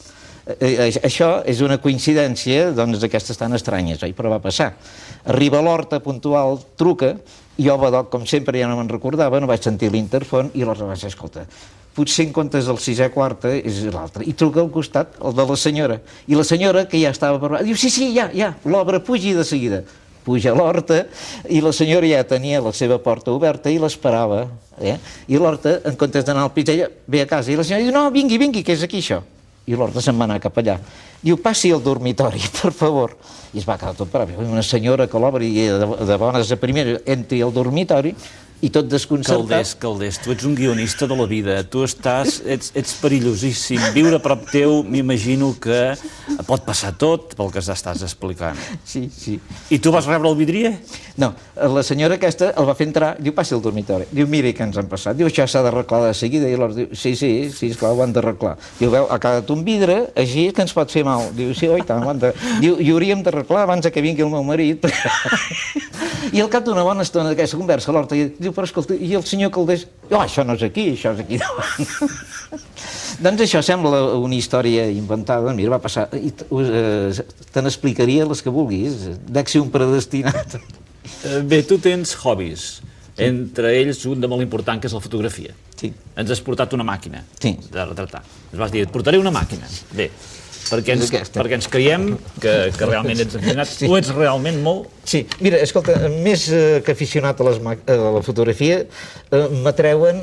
Això és una coincidència d'aquestes tan estranyes, oi? Però va passar. Arriba a l'Horta puntual, truca, i jo, badoc, com sempre, ja no me'n recordava, no vaig sentir l'interfon, i l'Horta va dir: escolta, potser en comptes del 6:15 és l'altre. I truca al costat, el de la senyora. I la senyora, que ja estava preparada, diu: sí, ja, l'obra, pugi de seguida. Puja a l'Horta, i la senyora ja tenia la seva porta oberta i l'esperava. I l'Horta, en comptes d'anar al pis, ella ve a casa, i la senyora diu: no, vingui, que és aquí això. I l'Horta se'n va anar cap allà. Diu: passi al dormitori, per favor. I es va quedar tot parat. Una senyora que l'obri de bones a primera entri al dormitori i tot desconcertat. Calders, tu ets un guionista de la vida, tu ets perillosíssim, viure a prop teu, m'imagino que pot passar tot pel que estàs explicant. Sí. I tu vas rebre el vidrier? No, la senyora aquesta el va fer entrar, diu: passi al dormitori. Diu: miri què ens han passat. Diu: això s'ha d'arreglar de seguida. I l'Horta diu: sí, esclar, ho han d'arreglar. Diu: veu, ha quedat un vidre, així que ens pot fer mal. Diu: sí, oi tant, ho han de... Diu: i hauríem d'arreglar abans que vingui el meu marit. I al cap d'una bona estona d'aquesta conversa, l'Horta diu: però escolta, i el senyor Calders? Això no és aquí, això és aquí davant. Doncs això sembla una història inventada. Mira, va passar. Te n'explicaria les que vulguis. Dec ser un predestinat. Bé, tu tens hobbies. Entre ells, un de molt important, que és la fotografia. Sí. Ens has portat una màquina de retratar. Ens vas dir: et portaré una màquina. Bé, perquè ens creiem que realment ets aficionat. Tu ets realment molt... Sí, mira, escolta, més que aficionat a la fotografia, m'atreuen,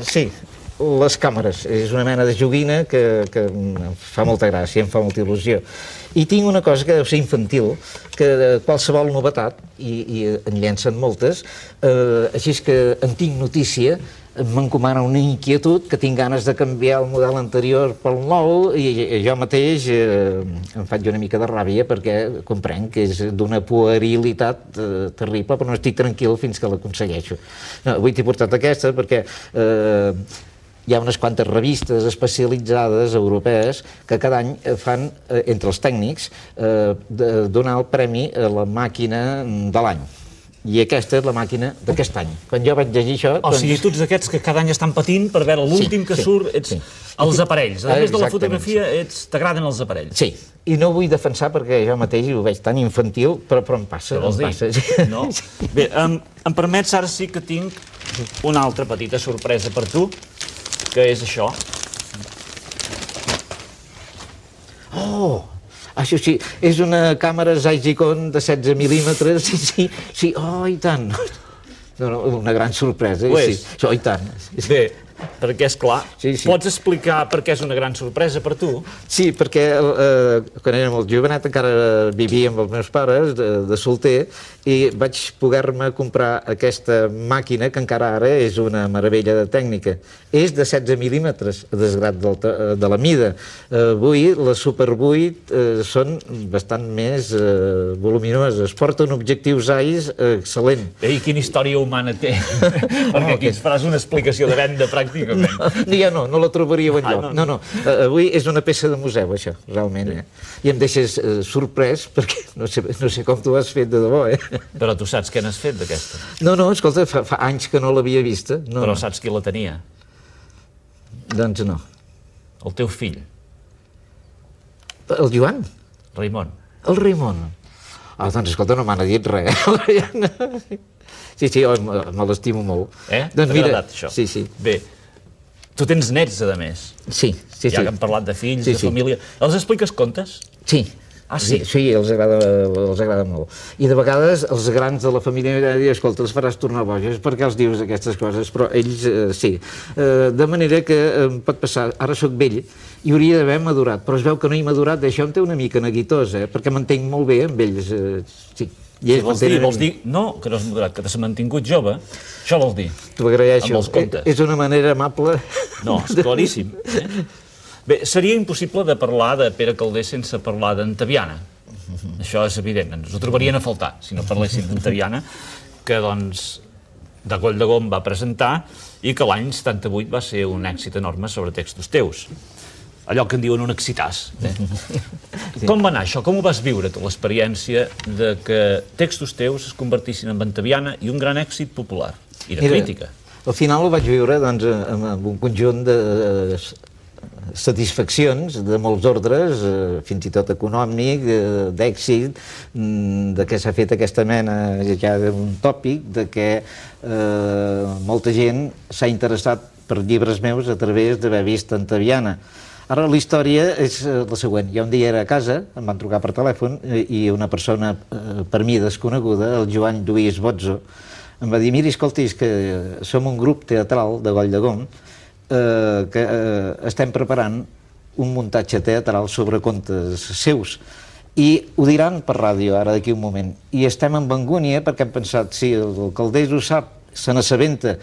sí, les càmeres. És una mena de joguina que em fa molta gràcia, em fa molta il·lusió. I tinc una cosa que deu ser infantil, que qualsevol novetat, i en llencen moltes, així és que en tinc notícia, m'encomana una inquietud, que tinc ganes de canviar el model anterior pel nou, i jo mateix em faig una mica de ràbia perquè comprenc que és d'una puerilitat terrible, però no estic tranquil fins que l'aconsegueixo. Avui t'he portat aquesta perquè hi ha unes quantes revistes especialitzades europees que cada any fan, entre els tècnics, donar el premi a la màquina de l'any. I aquesta és la màquina d'aquest any. Quan jo vaig llegir això... O sigui, tu ets d'aquests que cada any estan patint per veure l'últim que surt, ets els aparells. A més de la fotografia, t'agraden els aparells. Sí, i no ho vull defensar perquè jo mateix ho veig tan infantil, però em passa. Què vols dir? No? Bé, em permets, ara sí que tinc una altra petita sorpresa per tu, que és això. Oh! Això sí, és una càmera Zeiss-Ikon de 16 mil·límetres, sí, oh, i tant. Una gran sorpresa, sí, això, i tant. Bé, perquè, esclar, pots explicar per què és una gran sorpresa per tu? Sí, perquè quan era molt jovenet encara vivia amb els meus pares, de solter, i vaig poder-me comprar aquesta màquina que encara ara és una meravella de tècnica. És de 16 mil·límetres, a desgrat de la mida. Avui, les Super 8 són bastant més voluminoses. Porten objectius AIS excel·lent. I quina història humana té? Perquè aquí ens faràs una explicació de venda, pràcticament. No la trobaríeu enlloc. No. Avui és una peça de museu, això, realment. I em deixes sorprès, perquè no sé com t'ho has fet de debò, Però tu saps què n'has fet, d'aquesta? No, escolta, fa anys que no l'havia vista. Però saps qui la tenia? Doncs no. El teu fill. El Joan? Raimon. El Raimon. Doncs escolta, no m'han dit res. Sí, me l'estimo molt. T'ha agradat, això? Sí. Bé, tu tens nets, a més. Sí. Ja que hem parlat de fills, de família. Els expliques contes? Sí. Ah, sí? Sí, els agrada molt. I de vegades els grans de la família diuen, escolta, els faràs tornar boges, per què els dius aquestes coses? Però ells sí. De manera que em pot passar, ara sóc vell, i hauria d'haver madurat, però es veu que no he madurat, això em té una mica neguitós, perquè m'entenc molt bé amb ells, sí. Vols dir, no, que no has madurat, que t'has mantingut jove, això vols dir? T'ho agraeixo. Amb els contes. És una manera amable. No, és claríssim. Bé, seria impossible de parlar de Pere Calders sense parlar d'Antaviana. Això és evident, ens ho trobarien a faltar si no parléssim d'Antaviana, que, doncs, de Goll de Gom va presentar i que l'any 78 va ser un èxit enorme sobre textos teus. Allò que en diuen un excitàs. Com va anar això? Com ho vas viure, tu, l'experiència de que textos teus es convertissin en Antaviana i un gran èxit popular i de crítica? Al final ho vaig viure amb un conjunt de satisfaccions de molts ordres, fins i tot econòmic, d'èxit, de què s'ha fet aquesta mena ja d'un tòpic, de que molta gent s'ha interessat per llibres meus a través d'haver vist Antaviana. Ara la història és la següent. Jo un dia era a casa, em van trucar per telèfon i una persona per mi desconeguda, el Joan Lluís Bozzo, em va dir, mira, escolta, és que som un grup teatral de Goll de Gom que estem preparant un muntatge teatral sobre contes seus i ho diran per ràdio ara d'aquí un moment i estem en angúnia perquè hem pensat si el Calders ho sap, se n'assabenta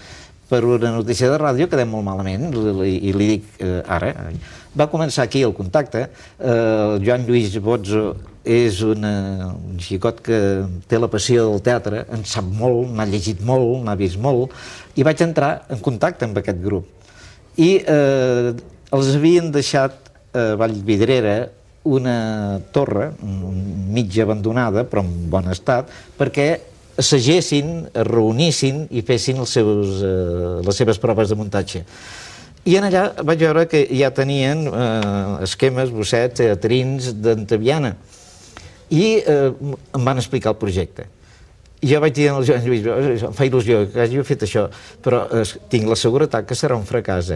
per una notícia de ràdio, quedem molt malament i li dic ara. Va començar aquí el contacte. El Joan Lluís Bozzo és un xicot que té la passió del teatre, en sap molt, n'ha llegit molt, n'ha vist molt, i vaig entrar en contacte amb aquest grup. I els havien deixat a Vallvidrera una torre mig abandonada, però en bon estat, perquè assagessin, es reunissin i fessin les seves proves de muntatge. I en allà vaig veure que ja tenien esquemes, bossets, teatrins d'Antaviana. I em van explicar el projecte. I jo vaig dir al Joan Lluís, em fa il·lusió que hàgiu fet això, però tinc la seguretat que serà un fracàs,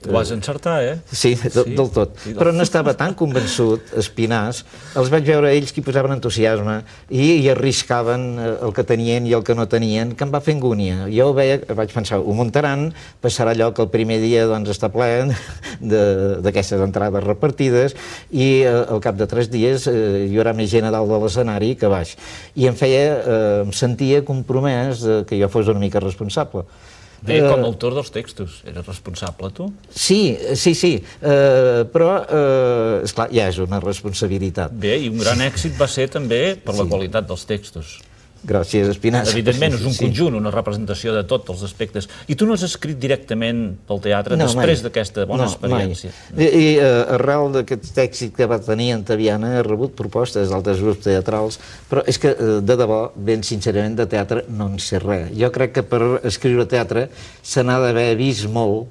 Ho vas encertar, Sí, del tot. Però n'estava tan convençut, Espinàs, els vaig veure ells que hi posaven entusiasme i arriscaven el que tenien i el que no tenien, que em va fer angúnia. Jo ho veia, vaig pensar, ho muntaran, passarà allò que el primer dia està ple d'aquestes entrades repartides i al cap de 3 dies hi haurà més gent a dalt de l'escenari que baix. I em sentia compromès que jo fos una mica responsable. Bé, com a autor dels textos, eres responsable, tu? Sí, però, esclar, ja és una responsabilitat. Bé, i un gran èxit va ser també per la qualitat dels textos. Gràcies, Espinàs. Evidentment, és un conjunt, una representació de tots els aspectes. I tu no has escrit directament pel teatre després d'aquesta bona experiència? I arrel d'aquest èxit que va tenir Antaviana he rebut propostes d'altres grups teatrals, però és que, de debò, ben sincerament, de teatre no en sé res. Jo crec que per escriure teatre se n'ha d'haver vist molt,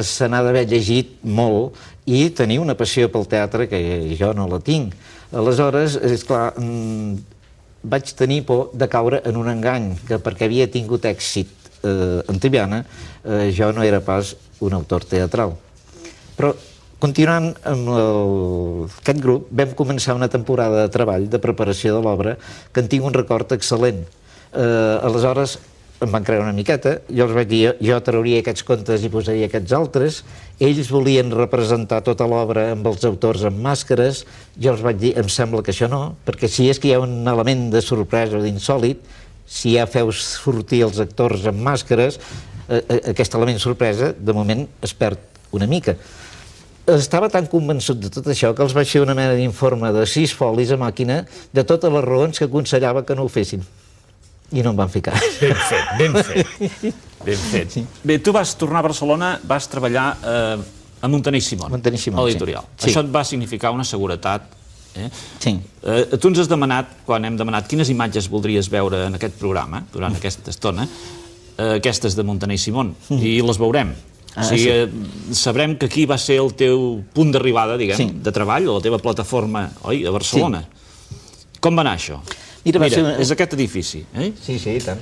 se n'ha d'haver llegit molt i tenir una passió pel teatre que jo no la tinc. Aleshores, esclar, vaig tenir por de caure en un engany, que perquè havia tingut èxit Antaviana, jo no era pas un autor teatral. Però, continuant amb aquest grup, vam començar una temporada de treball, de preparació de l'obra, que en tinc un record excel·lent. Aleshores, em van creure una miqueta, jo els vaig dir, jo trauria aquests contes i posaria aquests altres, ells volien representar tota l'obra amb els autors amb màscares, jo els vaig dir, em sembla que això no, perquè si és que hi ha un element de sorpresa o d'insòlit, si ja feu sortir els actors amb màscares, aquest element sorpresa, de moment, es perd una mica. Estava tan convençut de tot això que els vaig fer una mena d'informe de 6 folis a màquina de totes les raons que aconsellava que no ho fessin. I no em van ficar. Ben fet, ben fet. Ben fet. Bé, tu vas tornar a Barcelona, vas treballar a Muntaner i Simón, a l'editorial. Això et va significar una seguretat. Sí. Tu ens has demanat, quan hem demanat quines imatges voldries veure en aquest programa, durant aquesta estona, aquestes de Muntaner i Simón, i les veurem. O sigui, sabrem que aquí va ser el teu punt d'arribada, diguem, de treball, o la teva plataforma, oi, a Barcelona. Com va anar això? Mira, és aquest edifici, eh? Sí, sí, i tant.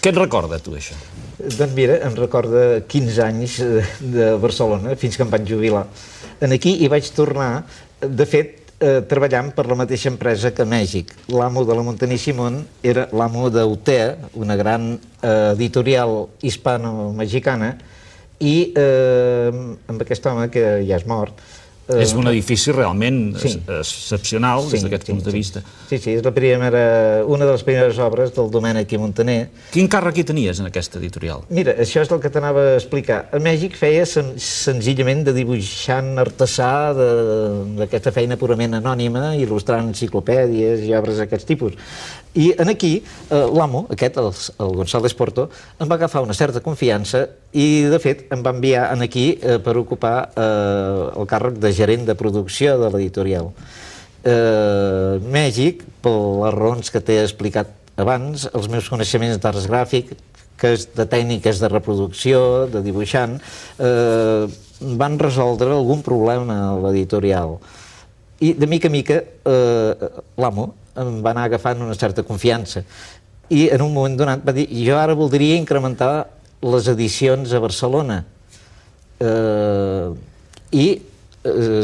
Què et recorda, tu, això? Doncs mira, em recorda 15 anys de Barcelona, fins que em vaig jubilar. Aquí hi vaig tornar, de fet, treballant per la mateixa empresa que a Mèxic. L'amo de la Muntaner i Simón era l'amo d'Utea, una gran editorial hispano-mexicana, i amb aquest home, que ja és mort... És un edifici realment excepcional des d'aquest punt de vista. Sí, sí, és una de les primeres obres del Domènech i Muntaner. Quin càrrec hi tenies en aquesta editorial? Mira, això és el que t'anava a explicar. A Mèxic feia senzillament de dibuixant artesà d'aquesta feina purament anònima, il·lustrant enciclopèdies i obres d'aquest tipus. I aquí, l'amo, aquest, el González Porto, em va agafar una certa confiança i, de fet, em va enviar aquí per ocupar el càrrec de gerent de producció de l'editorial. Mèxic, per les raons que t'he explicat abans, els meus coneixements d'arts gràfic, de tècniques de reproducció, de dibuixant, van resoldre algun problema a l'editorial. I, de mica en mica, l'amo em va anar agafant una certa confiança. I, en un moment donat, va dir, jo ara voldria incrementar les edicions a Barcelona. I,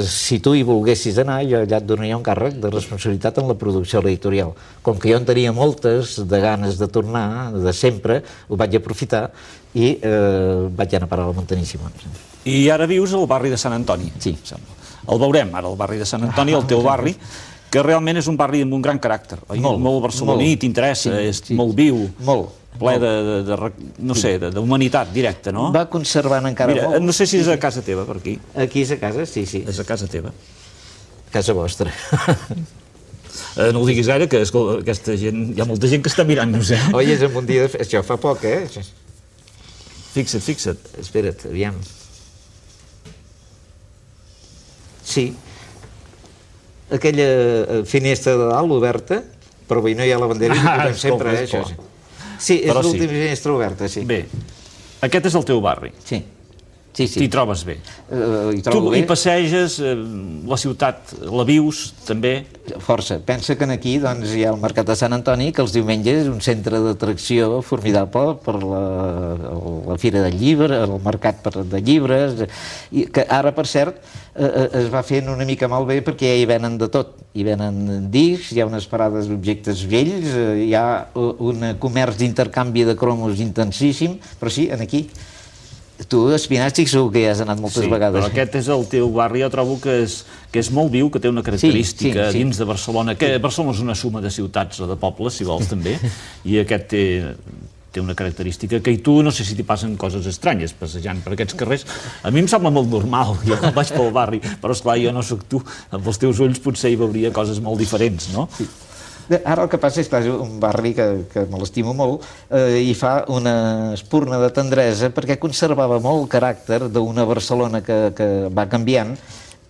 si tu hi volguessis anar, jo allà et donaria un càrrec de responsabilitat en la producció editorial. Com que jo en tenia moltes de ganes de tornar, de sempre, ho vaig aprofitar i vaig anar a parar a la Muntaner i Simón. I ara vius al barri de Sant Antoni. Sí. El veurem, ara, el barri de Sant Antoni, el teu barri, que realment és un barri amb un gran caràcter. Molt barceloní, t'interessa, és molt viu. Molt. Ple no sé, d'humanitat directa, no? Va conservant encara molt. Mira, no sé si és a casa teva, per aquí. Aquí és a casa, sí, sí. És a casa teva. Casa vostra. No ho diguis gaire, que aquesta gent... Hi ha molta gent que està mirant-nos, eh? Oi, és en un dia de... Això fa poc, eh? Fixa't. Espera't, aviam. Sí. Aquella finestra de dalt oberta, però avui no hi ha la bandera i ho posem sempre, eh, això. Sí, és l'última finestra oberta, sí. Bé, aquest és el teu barri. Sí. T'hi trobes bé. Tu hi passeges, la ciutat la vius, també? Força. Pensa que aquí hi ha el Mercat de Sant Antoni, que els diumenges és un centre d'atracció formidable per la Fira del Llibre, el Mercat de Llibres, que ara, per cert, es va fent una mica malbé perquè ja hi venen de tot. Hi venen discs, hi ha unes parades d'objectes vells, hi ha un comerç d'intercanvi de cromos intensíssim, però sí, aquí. Tu, Espinàstic, segur que hi has anat moltes vegades. Però aquest és el teu barri, jo trobo que és molt viu, que té una característica dins de Barcelona, que Barcelona és una suma de ciutats o de pobles, si vols, també, i aquest té una característica que tu no sé si t'hi passen coses estranyes passejant per aquests carrers. A mi em sembla molt normal, jo vaig pel barri, però esclar, jo no sóc tu, amb els teus ulls potser hi veuria coses molt diferents, no? Sí. Ara el que passa és que és un barri que me l'estimo molt i fa una espurna de tendresa perquè conservava molt el caràcter d'una Barcelona que va canviant,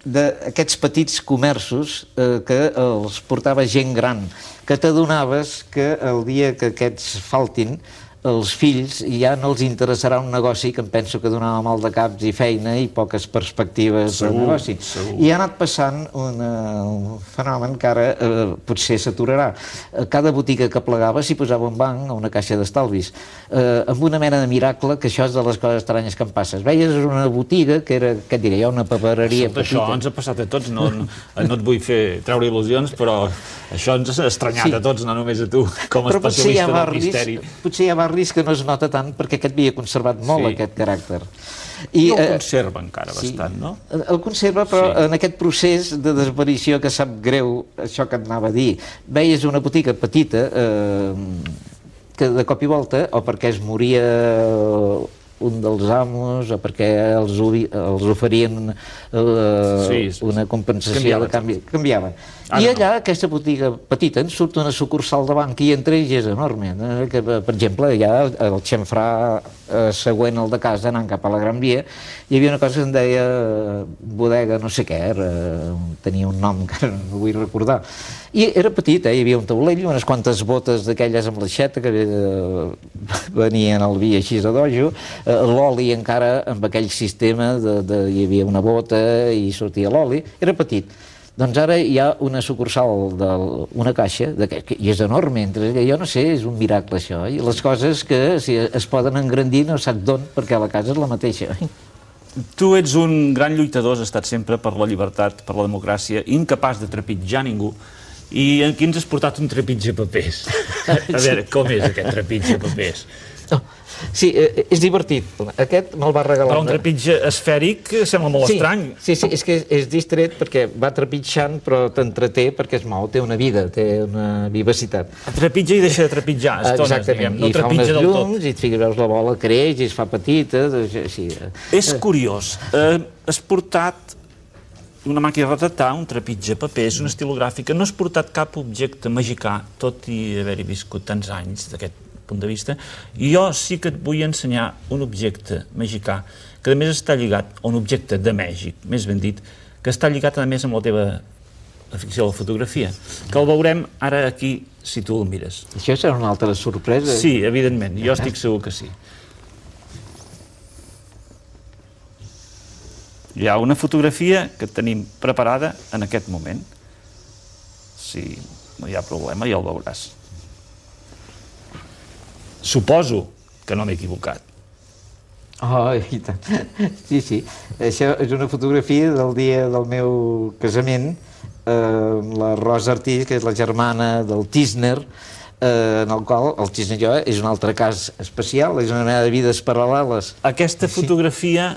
d'aquests petits comerços que els portava gent gran, que t'adonaves que el dia que aquests faltin, els fills ja no els interessarà un negoci que em penso que donava mal de caps i feina i poques perspectives de negoci. I ha anat passant un fenomen que ara potser s'aturarà. Cada botiga que plegava s'hi posava un banc o una caixa d'estalvis, amb una mena de miracle, que això és de les coses estranyes que em passes. Veies una botiga que era, què et diré jo, una papereria petita. Això ens ha passat a tots, no et vull fer treure il·lusions, però això ens ha estranyat a tots, no només a tu, com a especialista del misteri. Potser hi ha barris que no es nota tant perquè aquest havia conservat molt aquest caràcter. I el conserva encara bastant, no? El conserva, però en aquest procés de desaparició que sap greu, això que et anava a dir, veies una botiga petita que de cop i volta, o perquè es moria un dels amos, o perquè els oferien una compensació de canvi, canviaven. I allà, aquesta botiga petita, en surt una sucursal de banc i entre ells és enorme. Que, per exemple, ja el xamfrà següent al de casa, anant cap a la Gran Via, hi havia una cosa que es deia bodega no sé què, tenia un nom que no vull recordar. I era petit, hi havia un taulell, unes quantes botes d'aquelles amb l'aixeta que venien al vi així a dojo, l'oli encara amb aquell sistema hi havia una bota i sortia l'oli, era petit. Doncs ara hi ha una sucursal d'una caixa, i és enorme, jo no sé, és un miracle això, i les coses que es poden engrandir no saps d'on, perquè la casa és la mateixa. Tu ets un gran lluitador, has estat sempre per la llibertat, per la democràcia, incapaç de trepitjar ningú, i aquí ens has portat un trepitge papers. A veure, com és aquest trepitge papers? Sí, és divertit. Aquest me'l va regalar... Però un trepitge esfèric sembla molt estrany. Sí, és que és distret perquè va trepitjant, però t'entreté perquè es mou, té una vida, té una vivacitat. Trepitja i deixa de trepitjar estones, diguem. No trepitja del tot. I fa unes llums, i veus la bola creix, i es fa petita... És curiós. Has portat una màquina de retratar, un trepitge papers, una estilogràfica. No has portat cap objecte magicà, tot i haver-hi viscut tants anys d'aquest punt de vista, i jo sí que et vull ensenyar un objecte magicà que a més està lligat, o un objecte de màgic, més ben dit, que està lligat a més amb la teva afició a la fotografia, que el veurem ara aquí si tu el mires. Això serà una altra sorpresa? Sí, evidentment, jo estic segur que sí. Hi ha una fotografia que tenim preparada en aquest moment. Si no hi ha problema, ja el veuràs. Suposo que no m'he equivocat. Oh, i tant. Sí. Això és una fotografia del dia del meu casament, la Rosa Artís, que és la germana del Tísner, en el qual el Tísner i jo és un altre cas especial, és una mena de vides paral·leles. Aquesta fotografia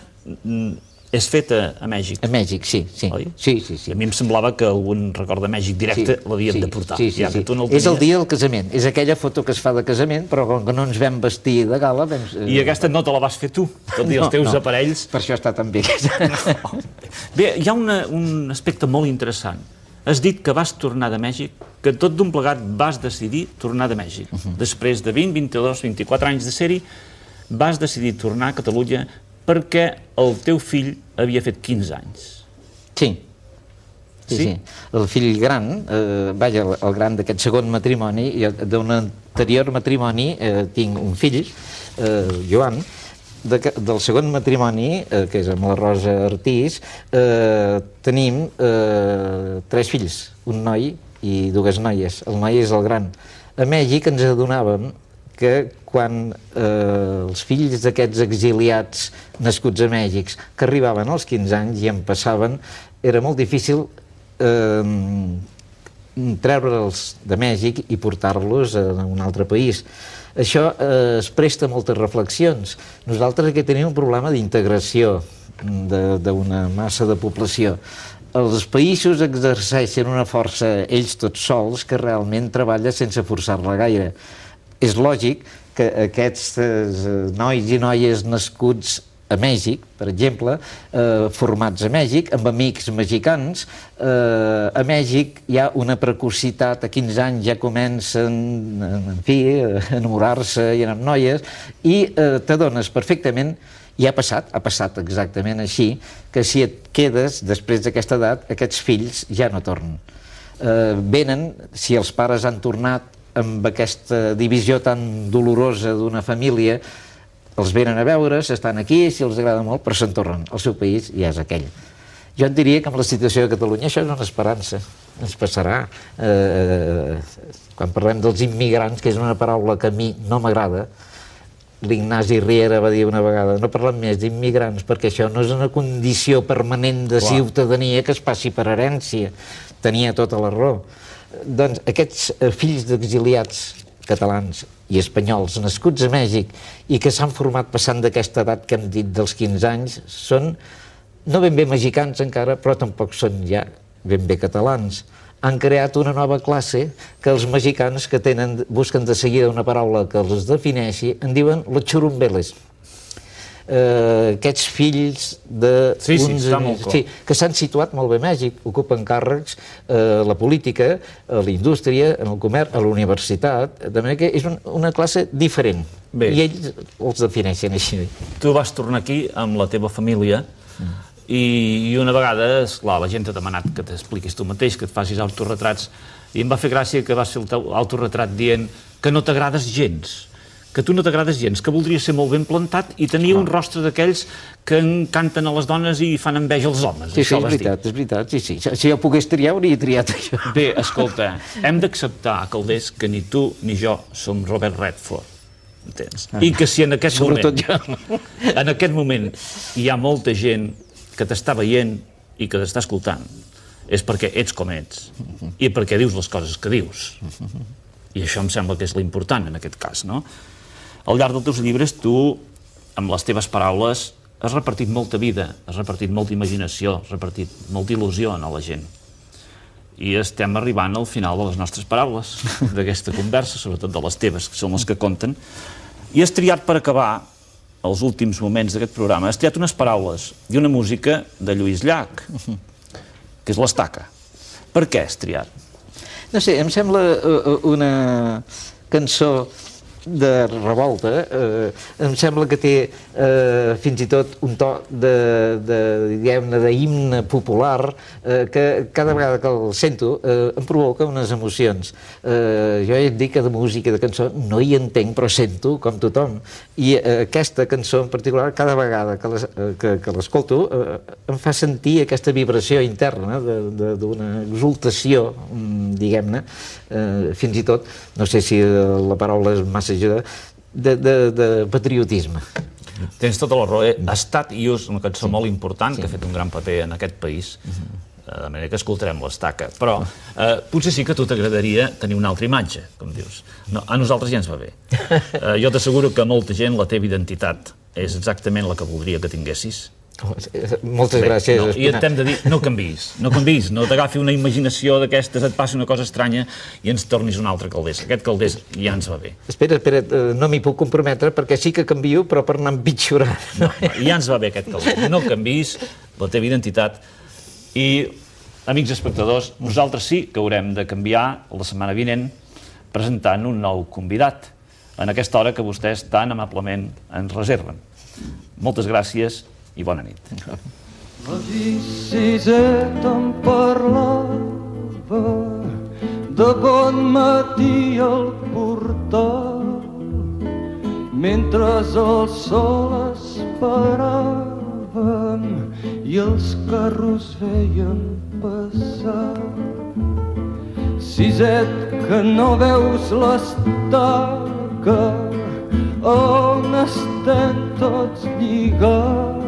és feta a Mèxic. A Mèxic, sí. Oi? Sí. A mi em semblava que algun record de Mèxic directe l'havien de portar. Sí. És el dia del casament. És aquella foto que es fa de casament, però com que no ens vam vestir de gala... I aquesta no te la vas fer tu, tot i els teus aparells. Per això està tan bé. Bé, hi ha un aspecte molt interessant. Has dit que vas tornar de Mèxic, que tot d'un plegat vas decidir tornar de Mèxic. Després de 20, 22, 24 anys de ser-hi, vas decidir tornar a Catalunya perquè el teu fill havia fet 15 anys. Sí. El fill gran, el gran d'aquest segon matrimoni, d'un anterior matrimoni tinc un fill, Joan, del segon matrimoni, que és amb la Rosa Artís, tenim 3 fills, un noi i 2 noies. El noi és el gran. A Mèxic ens adonàvem que quan els fills d'aquests exiliats nascuts a Mèxic que arribaven als 15 anys i en passaven, era molt difícil treure'ls de Mèxic i portar-los a un altre país. Això es presta a moltes reflexions. Nosaltres aquí tenim un problema d'integració d'una massa de població. Els països exerceixen una força ells tots sols que realment treballa sense forçar-la gaire. És lògic que aquests nois i noies nascuts a Mèxic, per exemple, formats a Mèxic, amb amics mexicans, a Mèxic hi ha una precocitat, a 15 anys ja comencen, en fi, a enamorar-se i anar amb noies, i t'adones perfectament, i ha passat exactament així, que si et quedes després d'aquesta edat, aquests fills ja no tornen. Venen, si els pares han tornat amb aquesta divisió tan dolorosa d'una família, els venen a veure, s'estan aquí, si els agrada molt, però se'n tornen. El seu país ja és aquell. Jo et diria que amb la situació de Catalunya això és una esperança. Ens passarà. Quan parlem dels immigrants, que és una paraula que a mi no m'agrada, l'Ignasi Riera va dir una vegada, no parlem més d'immigrants perquè això no és una condició permanent de ciutadania que es passi per herència. Tenia tota la raó. Doncs aquests fills d'exiliats catalans i espanyols nascuts a Mèxic i que s'han format passant d'aquesta edat que hem dit dels 15 anys són no ben bé mexicans encara, però tampoc són ja ben bé catalans. Han creat una nova classe que els mexicans que busquen de seguida una paraula que els defineixi en diuen los churumbeles. Aquests fills de... Sí, està molt clar. Que s'han situat molt bé a Mèxic, ocupen càrrecs a la política, a la indústria, en el comerç, a la universitat, de manera que és una classe diferent. I ells els defineixen així. Tu vas tornar aquí amb la teva família i una vegada, esclar, la gent t'ha demanat que t'expliquis tu mateix, que et facis autoretrats, i em va fer gràcia que vas fer el teu autoretrat dient que no t'agrades gens, que tu no t'agrades gens, que voldries ser molt ben plantat i tenia un rostre d'aquells que encanten a les dones i fan enveja als homes. Sí, és veritat, sí. Si jo pogués triar, hauria triat això. Bé, escolta, hem d'acceptar, Calders, que ni tu ni jo som Robert Redford, entens? I que si en aquest moment hi ha molta gent que t'està veient i que t'està escoltant, és perquè ets com ets i perquè dius les coses que dius. I això em sembla que és l'important en aquest cas, no? Al llarg dels teus llibres, tu, amb les teves paraules, has repartit molta vida, has repartit molta imaginació, has repartit molta il·lusió a la gent. I estem arribant al final de les nostres paraules, d'aquesta conversa, sobretot de les teves, que són les que compten. I has triat per acabar, els últims moments d'aquest programa, has triat unes paraules i una música de Lluís Llach, que és l'Estaca. Per què has triat? No sé, em sembla una cançó de revolta, em sembla que té fins i tot un to diguem-ne, d'himne popular que cada vegada que el sento em provoca unes emocions. Jo ja et dic que de música, de cançó, no hi entenc, però sento com tothom. I aquesta cançó en particular, cada vegada que l'escolto, em fa sentir aquesta vibració interna d'una exultació, diguem-ne, fins i tot, no sé si la paraula és massa ajuda, de patriotisme. Tens tota la raó. Estat i ús, una cançó molt important que ha fet un gran paper en aquest país, de manera que escoltarem l'Estaca. Però potser sí que a tu t'agradaria tenir una altra imatge, com dius. No, a nosaltres ja ens va bé. Jo t'asseguro que a molta gent la teva identitat és exactament la que voldria que tinguessis. Moltes gràcies. I t'hem de dir, no canviïs, no t'agafi una imaginació d'aquestes, et passi una cosa estranya i ens tornis un altre Calders. Aquest Calders ja ens va bé. Espera, no m'hi puc comprometre perquè sí que canvio, però per anar empitjorant. Ja ens va bé aquest Calders. No canviïs la teva identitat i, amics espectadors, nosaltres sí que haurem de canviar la setmana vinent presentant un nou convidat en aquesta hora que vostès tan amablement ens reserven. Moltes gràcies i bona nit. La Siseta em parlava de bon matí al portal mentre el sol esperaven i els carros veien passar. Siset, que no veus l'Estaca on estem tots lligats.